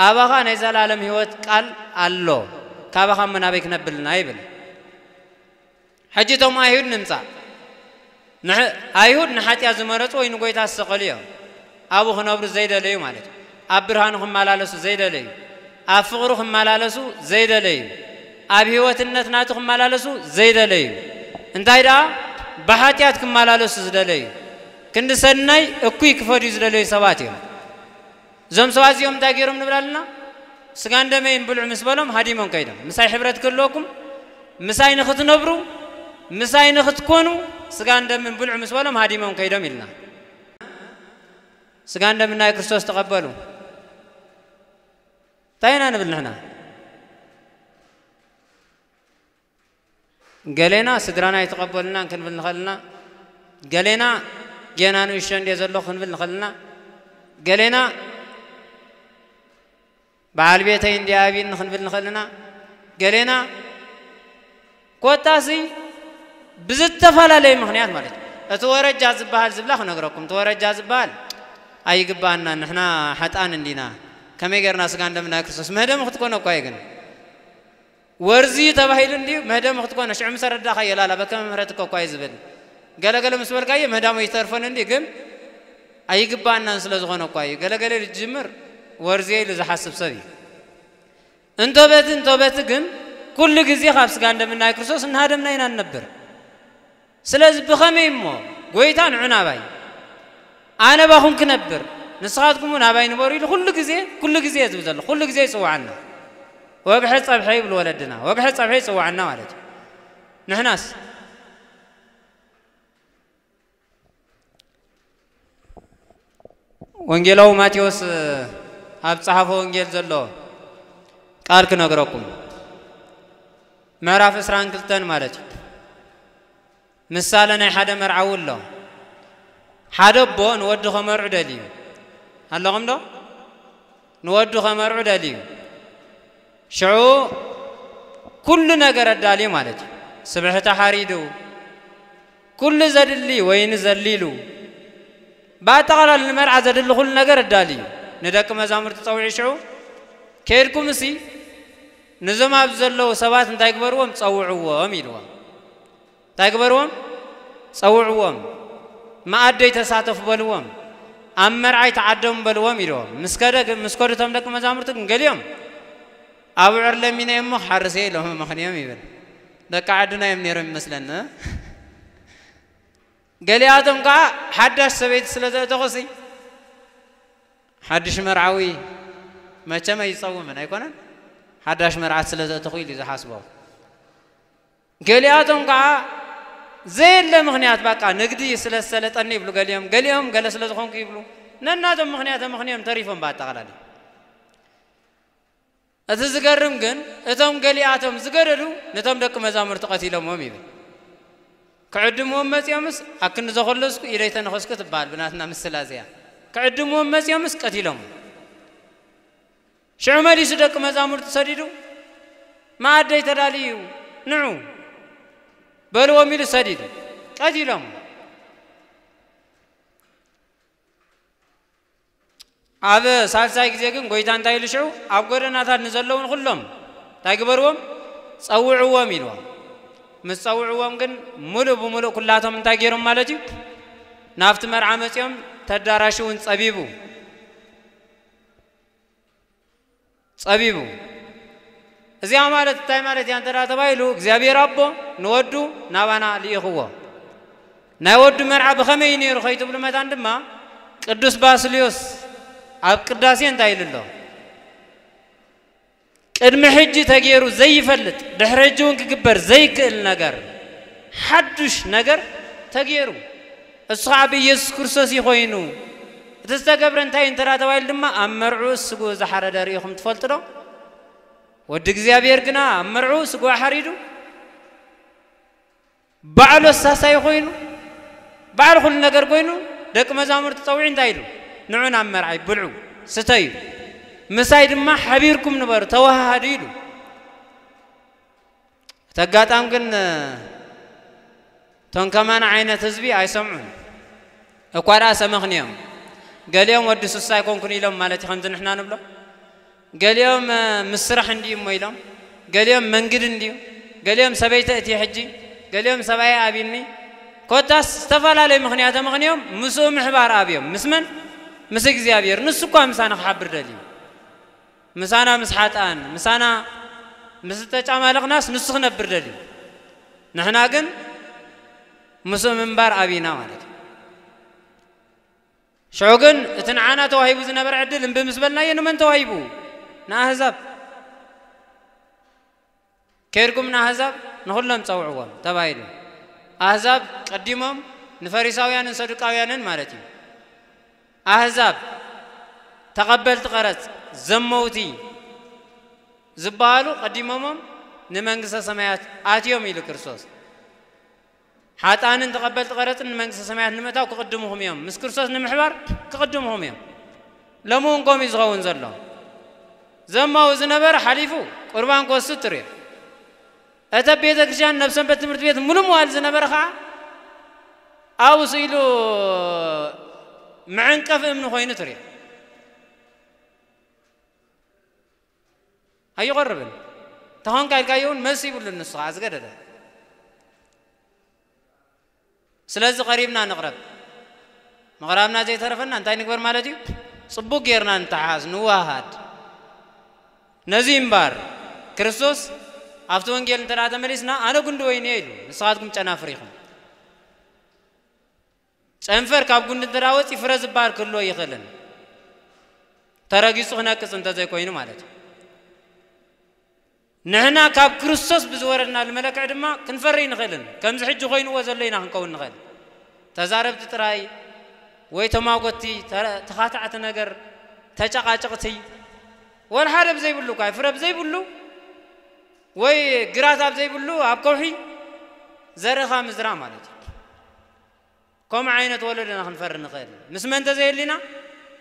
ኣባኻ ናይ ዘላለም ህይወት ቃል ኣሎ፣ ካባኻ እሞ ናበይ ክነብልና ይብል። ሕጂ እቶም ኣይሁድ ንምጻእ። ንሕ-፣ ኣይሁድ ንሓጢኣት ዝመረጹ ወይ ንጎይታ ዝሰቐሉ እዮም። ኣብኡ ክነብሩ ዘይደለዩ ማለት እዩ። ኣብ ብርሃኑ ክመላለሱ ዘይደለዩ፣ ኣብ ፍቕሩ ክመላለሱ ዘይደለዩ፣ ኣብ ህይወትነት ናቱ ክመላለሱ ዘይደለዩ፣ እንታይ ደኣ ብሓጢኣት ክመላለሱ ዝደለዩ፣ ክንዲ ሰናይ እኩይ ክፈድዩ ዝደለዩ ሰባት እዮም። እዞም ሰባት እዚኦም እንታይ ገይሮም ንብል ኣለና? ስጋን ደመይን ብልዑ ምስ በሎም ሃዲሞም ከይዶም። ምሳይ ሕብረት ክህልወኩም፣ ምሳይ ንኽትነብሩ፣ ምሳይ ንኽትኮኑ፣ ስጋን ደምን ብልዑ ምስ በሎም ሃዲሞም ከይዶም ኢልና። ስጋን ደምን ናይ ክርስቶስ ተቐበሉ። እንታይ ኢና ንብል ንሕና? ገሌና ስድራና ኣይተቐበሉናን ክንብል ንኽእል ኢና። ገሌና ጌና ንእሽቶ እንድየ ዘለኹ ክንብል ንኽእል ኢና። ገሌና በዓል ቤተይ እንድየ ኣብዩኒ ክንብል ንኽእል ኢና። ገሌና ኮታሲ ብዝተፈላለየ ምኽንያት ማለት እዩ። እቲ ወረጃ ዝበሃል ዝብላ ክነግረኩም፣ እቲ ወረጃ ዝበሃል ኣይግባኣናን፣ ንሕና ሓጥኣን እንዲና፣ ከመይ ጌርና ስጋን ደምን ናይ ክርስቶስ? መህደሚ ክትኮነ እኳ እዩ ግን። ወርዚ ተባሂሉ እንድዩ፣ መህደሚ ክትኮነ፣ ሽዑ ምስ ኣረዳእካዮ ላላ በከመ ምሕረትከ እኳ እዩ ዝብል። ገለገለ ምስ በልካዮ ምህዳሙ ይተርፈን እንድዩ፣ ግን ኣይግባኣናን ስለ ዝኾነ እኳ እዩ። ገለገለ ዝጅምር ወርዚ ኢሉ ዝሓስብ ሰብ እዩ። እንቶ በቲ፣ እንቶ በቲ ግን ኩሉ ግዜ ካብ ስጋን ደምን ናይ ክርስቶስ እናሃደምና ኢና ንነብር። ስለዚ ብኸመይ እሞ ጎይታ ንዑ ናባይ፣ ኣነ ባኹም ክነብር፣ ንስኻትኩም እውን ኣባይ ንበሩ ኢሉ ኩሉ ግዜ፣ ኩሉ ግዜ እዩ ዝብል ዘሎ። ኩሉ ግዜ ይጽውዓና። ወግሐ ጸብሐ ይብሉ ወለድና። ወግሐ ጸብሐ ይጽውዓና ማለት እዩ። ንሕናስ ወንጌላዊ ማቴዎስ ኣብ ጸሓፎ ወንጌል ዘሎ ቃል ክነግረኩም። ምዕራፍ ዕስራን ክልተን ማለት እዩ። ምሳሌ ናይ ሓደ መርዓዊ ኣሎ። ሓደ ኣቦ ንወዱ ከመርዑ ደልዩ። ኣለኹም ዶ? ንወዱ ከመርዑ ደልዩ። ሽዑ ኩሉ ነገር ኣዳልዩ ማለት እዩ። ስብሕቲ ሓሪዱ፣ ኩሉ ዘድሊ ወይኒ ዘሊሉ፣ ብኣጠቓላሊ ንመርዓ ዘድሊ ኩሉ ነገር ኣዳልዩ። ንደቂ መዛሙርቲ ጸውዒ ሽዑ፣ "ከይድኩምሲ ንዞም ኣብዚ ዘለዉ ሰባት እንታይ ግበርዎም? ጸውዕዎም" ኢልዎም። እንታይ ግበርዎም? ጸውዕዎም። መኣደይ ተሳተፉ በልዎም። ኣብ መርዓይ ተዓደሙ በልዎም ኢልዎም። ምስ ከደ ግን፣ ምስ ከዱ እቶም ደቂ መዛሙርቲ ግን ገሊኦም፣ "ኣብዑር ለሚነ እየ እሞ ክሓርስ እየ" ኢሎም መኽንዮም ይብል። ደቂ ዓድና እዮም ነይሮም ይመስለኒ። ገሊኣቶም ከዓ ሓዳሽ ሰበይቲ ስለ ዘእተኹሲ፣ ሓድሽ መርዓዊ መቸም ኣይጸውምን ኣይኮነን? ሓዳሽ መርዓት ስለ ዘእተኹ ኢሉ ዝሓስቦ። ገሊኣቶም ከዓ ዘየለ ምኽንያት፣ በቃ ንግዲ ስለ ዝሰለጠኒ ይብሉ ገሊኦም፣ ገሊኦም ገለ ስለ ዝኾንኩ ይብሉ። ነናቶም ምኽንያት ምኽንዮም ተሪፎም ብኣጠቓላሊ። እቲ ዝገርም ግን እቶም ገሊኣቶም ዝገደዱ ነቶም ደቂ መዛሙርቲ ቀቲሎምዎም ይብል። ክዕድምዎም መጺኦምስ ኣክንዲ ዘኾለስኩ ኢደይ ተነኸስኩ ትበሃል ብናትና ምስላ እዚኣ። ክዕድምዎም መጺኦምስ ቀቲሎም። ሽዑ መሊሱ ደቂ መዛሙርቲ ሰዲዱ፣ "መኣደይ ተዳልዩ እዩ፣ ንዑ" በልዎም ኢሉ ሰዲዱ። ቀቲሎም። ኣብ ሳልሳይ ግዜ ግን ጎይታ እንታይ ኢሉ ሽዑ? ኣብ ጎደናታት ንዘለዉ ንኹሎም እንታይ ግበርዎም? ጸውዕዎም ኢልዎም። ምስ ጸውዕዎም ግን ምሉእ ብምሉእ ኩላቶም እንታይ ገይሮም ማለት እዩ? ናብቲ መርዓ መጺኦም፣ እቲ ኣዳራሽ እውን ጸቢቡ። ጸቢቡ። እዚኣ ማለት እንታይ ማለት እያ እንተ ደኣ ተባሂሉ፣ እግዚኣብሔር ኣቦ ንወዱ ናባና ልኢኽዎ። ናይ ወዱ መርዓ ብኸመይ እዩ ነይሩ ከይትብሉ መታን ድማ፣ ቅዱስ ባስልዮስ ኣብ ቅዳሴ እንታይ ኢሉ ኣሎ? ቅድሚ ሕጂ ተገይሩ ዘይፈልጥ፣ ድሕሪ ሕጂ እውን ክግበር ዘይክእል ነገር፣ ሓዱሽ ነገር ተገይሩ። እሱ ኸዓ ብኢየሱስ ክርስቶስ እዩ ኾይኑ። እቲ ዝተገብረ እንታይ እዩ እንተ ደኣ ተባሂሉ ድማ፣ ኣብ መርዕኡ ስግኡ ዝሓረደ ርኢኹም ትፈልጡ ዶ? ወዲ እግዚኣብሔር ግና ኣብ መርዕኡ ስግኡ ሓሪዱ፣ ባዕሉ ኣሳሳይ ኮይኑ፣ ባዕሉ ኩሉ ነገር ኮይኑ፣ ደቂ መዛሙርቲ ጸዊዑ እንታይ ኢሉ? "ንዑ ናብ መርዓይ፣ ብልዑ፣ ስተዩ፣ ምሳይ ድማ ሓቢርኩም ንበሩ፣ ተወሃሃዱ" ኢሉ። እቲ ኣጋጣሚ ግን፣ እቶም ከማና ዓይነት ህዝቢ ኣይሰምዑን። እኳ ደኣ ሰመኽንዮም። ገሊኦም ወዲ ሱሳ ኣይኮንኩን ኢሎም ማለት እዩ፣ ከምዚ ንሕና ንብሎ። ገሊኦም፣ እ፣ ምስ ስራሕ እንድዩ እሞ ኢሎም። ገሊኦም መንግድ እንድዩ። ገሊኦም ሰበይቲ እቲ ሕጂ። ገሊኦም ሰብኣይ ኣብኒ። ኮታስ ዝተፈላለየ ምኽንያት ኣመኽንዮም ምስኡ ምሕባር ኣብዮም። ምስ መን? ምስ እግዚኣብሔር። ንሱ እኳ ምሳና ክሓብር ደልዩ። ምሳና ምስ ሓጥኣን፣ ምሳና ምስ ዝተጫማለቕናስ ንሱ ክነብር ደልዩ። ንሕና ግን ምስኡ ምንባር ኣብይና ማለት እዩ። ሽዑ ግን እቲ ንዓና ተዋሂቡ ዝነበረ ዕድል እምቢ ምስ በልናዮ፣ ንመን ተዋሂቡ? ንኣህዛብ። "ከይድኩም ንኣህዛብ ንኹሎም ጸውዕዎም" ተባሂሉ። ኣህዛብ ቀዲሞም ንፈሪሳውያንን ሰዱቃውያንን ማለት እዩ። ኣህዛብ ተቐበልቲ ቀረጽ፣ ዘመውቲ ዝበሃሉ ቀዲሞሞም ንመንግስተ ሰማያት ኣትዮም ኢሉ ክርስቶስ። ሓጥኣንን ተቐበልቲ ቀረጽን ንመንግስተ ሰማያት ንምእታው ክቕድሙኹም እዮም። ምስ ክርስቶስ ንምሕባር ክቕድሙኹም እዮም። ሎሚ እውን ከምኡ እዩ ዝኸውን ዘሎ። ዘማዊ ዝነበረ ሓሊፉ ቁርባን ክወስድ ትርእዮ። እቲ ኣብ ቤተ ክርስቲያን፣ ናብ ሰንበት ትምህርቲ ቤት ምሉእ መዋል ዝነበረ ኸዓ ኣብኡ ስኢሉ መዐንቀፊ እምኒ ኮይኑ ትርእዮ። ኣይቐርብን። ተኾንካ ኢልካዮ እውን መልሲ ይብሉን፣ ንሱ ኸዓ ዝገደደ። ስለዚ ቀሪብና ንቕረብ። ምቕራብና ዘይተረፈና እንታይ ንግበር ማለት እዩ? ጽቡቕ ጌርና ንተሓዝ፣ ንወሃሃድ። ነዚ እምበር ክርስቶስ ኣብቲ ወንጌል እንተ ደኣ ተመሊስና፣ ኣነ ጉንዲ ወይኒ እየ ኢሉ፣ ንስኻትኩም ጨናፍር ኢኹም። ጨንፈር ካብ ጉንዲ እንተ ደኣ ወጺኡ ፍረ ዝበሃል ክህልዎ ኣይኽእልን። ተረጊጹ ክነቅጽ እንተ ዘይኮይኑ ማለት እዩ። ንሕና ካብ ክርስቶስ ብዝወረድናሉ መለክዒ ድማ ክንፈሪ ኣይንኽእልን። ከምዚ ሕጂ ኮይንዎ ዘሎ ኢና ክንከውን ንኽእል። ተዛረብቲ ጥራይ ወይ ተማጎትቲ፣ ተረ-፣ ተኻታዕቲ ነገር፣ ተጨቃጨቕቲ፣ ወላ ሓደ ብዘይብሉ እኳ፣ ፍረ ብዘይብሉ ወይ ግራት ኣብ ዘይብሉ ኣብ ከውሒ ዘርእኻ ምዝራ ማለት እዩ። ከምኡ ዓይነት ወለዶ ኢና ክንፈሪ ንኽእል። ምስ መን ተዘየሊና?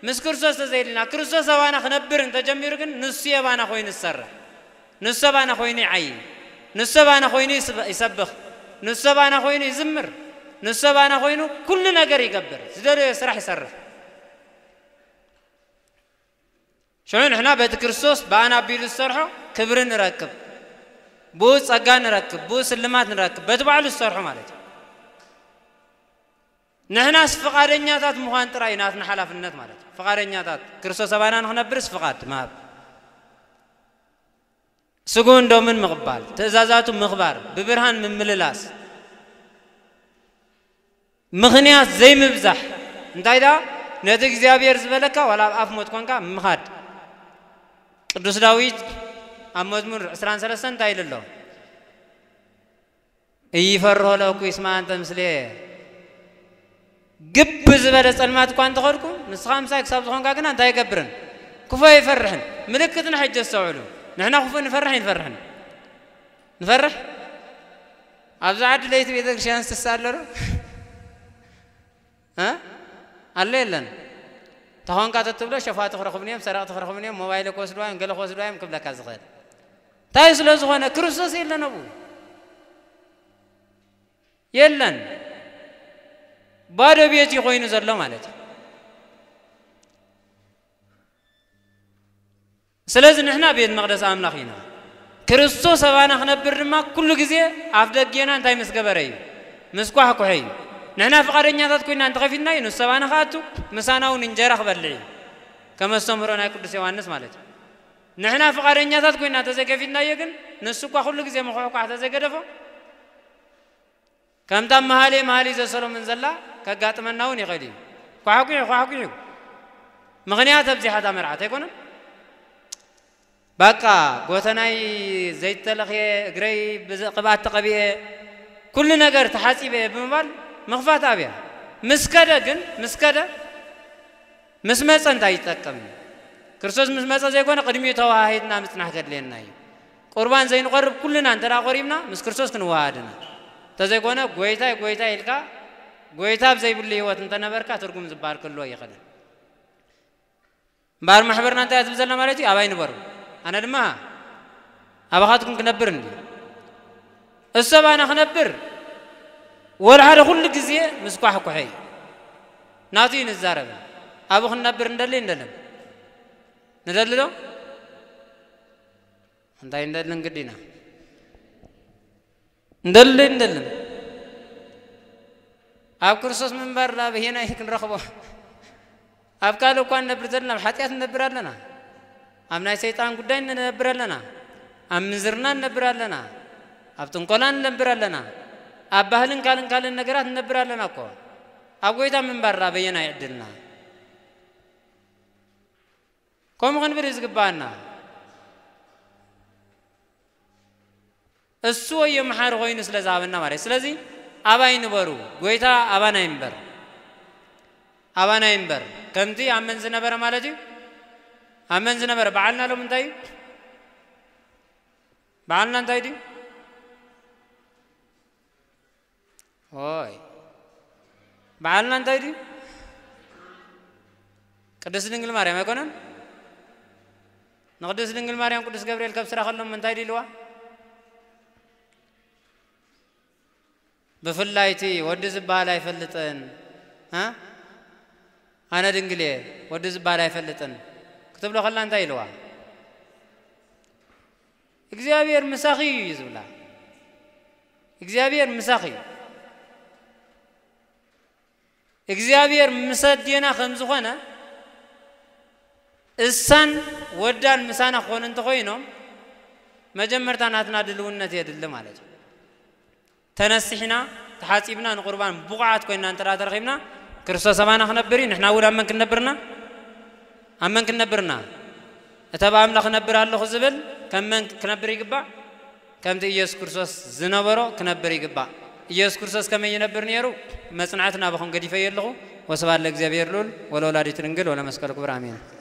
ምስ ክርስቶስ ተዘየሊና። ክርስቶስ ኣባና ክነብር እንተጀሚሩ ግን ንሱ ኣባና ኮይኑ ዝሰርሕ። ንሱ ኣባና ኮይኑ ይዓዪ። ንሱ ኣባና ኮይኑ ይስበ-፣ ይሰብኽ። ንሱ ኣባና ኮይኑ ይዝምር። ንሱ ኣባና ኮይኑ ኩሉ ነገር ይገብር። ዝደለዮ ስራሕ ይሰርሕ። ሽዑ ንሕና በቲ ክርስቶስ ብኣና ኣቢሉ ዝሰርሖ ክብሪ ንረክብ። ብኡ ጸጋ ንረክብ፣ ብኡ ስልማት ንረክብ። በቲ ባዕሉ ዝሰርሖ ማለት እዩ። ንሕናስ ፍቓደኛታት ምዃን ጥራይ ናትና ሓላፍነት ማለት እዩ። ፍቓደኛታት ክርስቶስ ኣባና ንኽነብርስ ፍቓድ ምሃብ። ስግኡን ደሙን ምቕባል፣ ትእዛዛቱ ምኽባር፣ ብብርሃን ምምልላስ፣ ምኽንያት ዘይምብዛሕ። እንታይ ደኣ? ነቲ እግዚኣብሔር ዝበለካ ዋላ ኣብ ኣፍ ሞት ኮንካ ምኻድ። ቅዱስ ዳዊት ኣብ መዝሙር ዕስራን ሰለስተን እንታይ ኢሉ ኣሎ? "እይፈርሆ ለእኩይ እስመ ኣንተ ምስሌየ." ግብ ዝበለ ጸልማት እኳ እንተኸድኩ፣ ንስኻ ምሳይ ክሳብ ዝኾንካ ግና እንታይ ይገብርን? ክፉእ ኣይፈርሕን። ምልክትና ሕጂ ኣስተውዕሉ። ንሕና ክፉእ ንፈርሕ ኣይንፈርሕን? ንፈርሕ? ኣብዚ ዓዲ ለይቲ ቤተ ክርስቲያን ዝትስእ ኣሎ ዶ? እ? ኣሎ የለን? ተኾንካ ተትብሎ ሸፋቱ ክረኽቡኒ እዮም፣ ሰረቕቲ ክረኽቡኒ እዮም፣ ሞባይል ክወስድዋ እዮም፣ ገለ ክወስድዋ እዮም ክብለካ ዝኽእል። እንታይ ስለ ዝኾነ? ክርስቶስ የለን ኣብኡ። የለን። ባዶ ቤት እዩ ኮይኑ ዘሎ ማለት እዩ። ስለዚ ንሕና ቤት መቕደስ ኣምላኽ ኢና። ክርስቶስ ኣባና ክነብር ድማ ኩሉ ግዜ ኣፍ ደጌና እንታይ ምስ ገበረ እዩ? ምስ ኳሕኩሐ እዩ። ንሕና ፍቓደኛታት ኮይና እንተኸፊትናዮ፣ ንሱ ኣባና ክኣቱ፣ ምሳና እውን እንጀራ ክበልዕ እዩ። ከም ኣስተምህሮ ናይ ቅዱስ ዮሃንስ ማለት እዩ። ንሕና ፍቓደኛታት ኮይና እንተዘይከፊትናዮ ግን፣ ንሱ እኳ ኩሉ ግዜ ምኹሕኳሕ ተዘይገደፎ፣ ከምታ መሃሌ መሃሌ ዘሰሎሞን ዘላ ከጋጥመና እውን ይኽእል እዩ። ኳሕኲሑ፣ ኳሕኲሑ። ምኽንያት ኣብዚሓ እታ መርዓት ኣይኮነን? ባቃ፣ ጎተናይ ዘይተለኽየ፣ እግረይ ብዘ-፣ ቅብኣት ተቐቢኤ፣ ኩሉ ነገር ተሓጺበ ብምባል ምኽፋት ኣብያ። ምስ ከደ ግን፣ ምስ ከደ፣ ምስ መጸ እንታይ ይጠቅም? ክርስቶስ ምስ መጸ ዘይኮነ፣ ቅድሚኡ ተወሃሂድና ምጽናሕ ከድልየና እዩ። ቁርባን ዘይንቐርብ ኩልና እንተ ደኣ ቆሪብና፣ ምስ ክርስቶስ ክንወሃሃድ ኢና። እንተዘይኮነ፣ "ጎይታይ፣ ጎይታይ" ኢልካ፣ ጎይታ ኣብ ዘይብሉ ህይወት እንተነበርካ፣ ትርጉም ዝበሃል ክህልዎ ኣይኽእልን። እምበኣር ማሕበርና እንታይ እያ ትብል ዘላ ማለት እዩ? ኣባይ ንበሩ፣ ኣነ ድማ ኣባኻትኩም ክነብር እንዲ። እሱ ኣባና ክነብር፣ ወላ ሓደ ኩሉ ግዜ ምስ ኳሕኩሐ እዩ። ናቱ እዩ ንዛረብ። ኣብኡ ክንነብር እንደሊ እንደልን። ንደሊ ዶ? እንታይ እንደልን ግዲ ኢና። እንደሊ እንደልን። ኣብ ክርስቶስ ምንባር ዳ በየናይ ክንረኽቦ? ኣብ ካልእ እኳ ንነብር ዘለና፣ ኣብ ሓጢኣት ንነብር ኣለና። ኣብ ናይ ሰይጣን ጉዳይ ንነብር ኣለና። ኣብ ምንዝርና ንነብር ኣለና። ኣብ ጥንቆላ ንነብር ኣለና። ኣብ ባህልን ካልእን ካልእን ነገራት ንነብር ኣለና እኮ። ኣብ ጎይታ ምንባር ዳ በየናይ ዕድልና? ከምኡ ክንብል እዩ ዝግባኣና። እሱ ወዮ መሓሪ ኮይኑ ስለ ዝሃበና ማለት እዩ። ስለዚ ኣባይ ንበሩ፣ ጎይታ ኣባና ይንበር፣ ኣባና ይንበር። ከምቲ ኣብ መን ዝነበረ ማለት እዩ? ኣብ መን ዝነበረ? በዓልና ሎም እንታይ እዩ? በዓልና እንታይ ድዩ? ኦይ፣ በዓልና እንታይ ድዩ? ቅድስት ድንግል ማርያም ኣይኮነን? ንቅድስት ድንግል ማርያም ቅዱስ ገብርኤል ከብስራ ከሎም እንታይ ድዩ ኢልዋ? ብፍላይ እቲ ወዲ ዝበሃል ኣይፈልጥን፣ እ? ኣነ ድንግል እየ፣ ወዲ ዝበሃል ኣይፈልጥን ክትብሎ ከላ እንታይ ኢልዋ? "እግዚኣብሔር ምሳኺ እዩ" እዩ ዝብላ። እግዚኣብሔር ምሳኺ እዩ። እግዚኣብሔር ምስ ኣዴና ከም ዝኾነ፣ እሳን ወዳን ምሳና ክኾኑ እንተኾይኖም፣ መጀመርታ ናትና ድልውነት የድሊ ማለት እዩ። ተነሲሕና ተሓጺብና ንቁርባን ብቑዓት ኮይና እንተ ተረኺብና፣ ክርስቶስ ኣባና ክነብር እዩ። ንሕና እውን ኣብ መን ክንነብርና? ኣብ መን ክንነብርና? እተ ብኣምላኽ ክነብር ኣለኹ ዝብል ከም መን ክነብር ይግባእ? ከምቲ ኢየሱስ ክርስቶስ ዝነበሮ ክነብር ይግባእ። ኢየሱስ ክርስቶስ ከመይ ይነብር ነይሩ? መጽናዕቲ ናባኹም ገዲፈዮ ኣለኹ። ወስብሐት ለእግዚኣብሔር ልዑል ወለወላዲቱ ድንግል ወለመስቀሉ ክቡር፣ ኣሜን።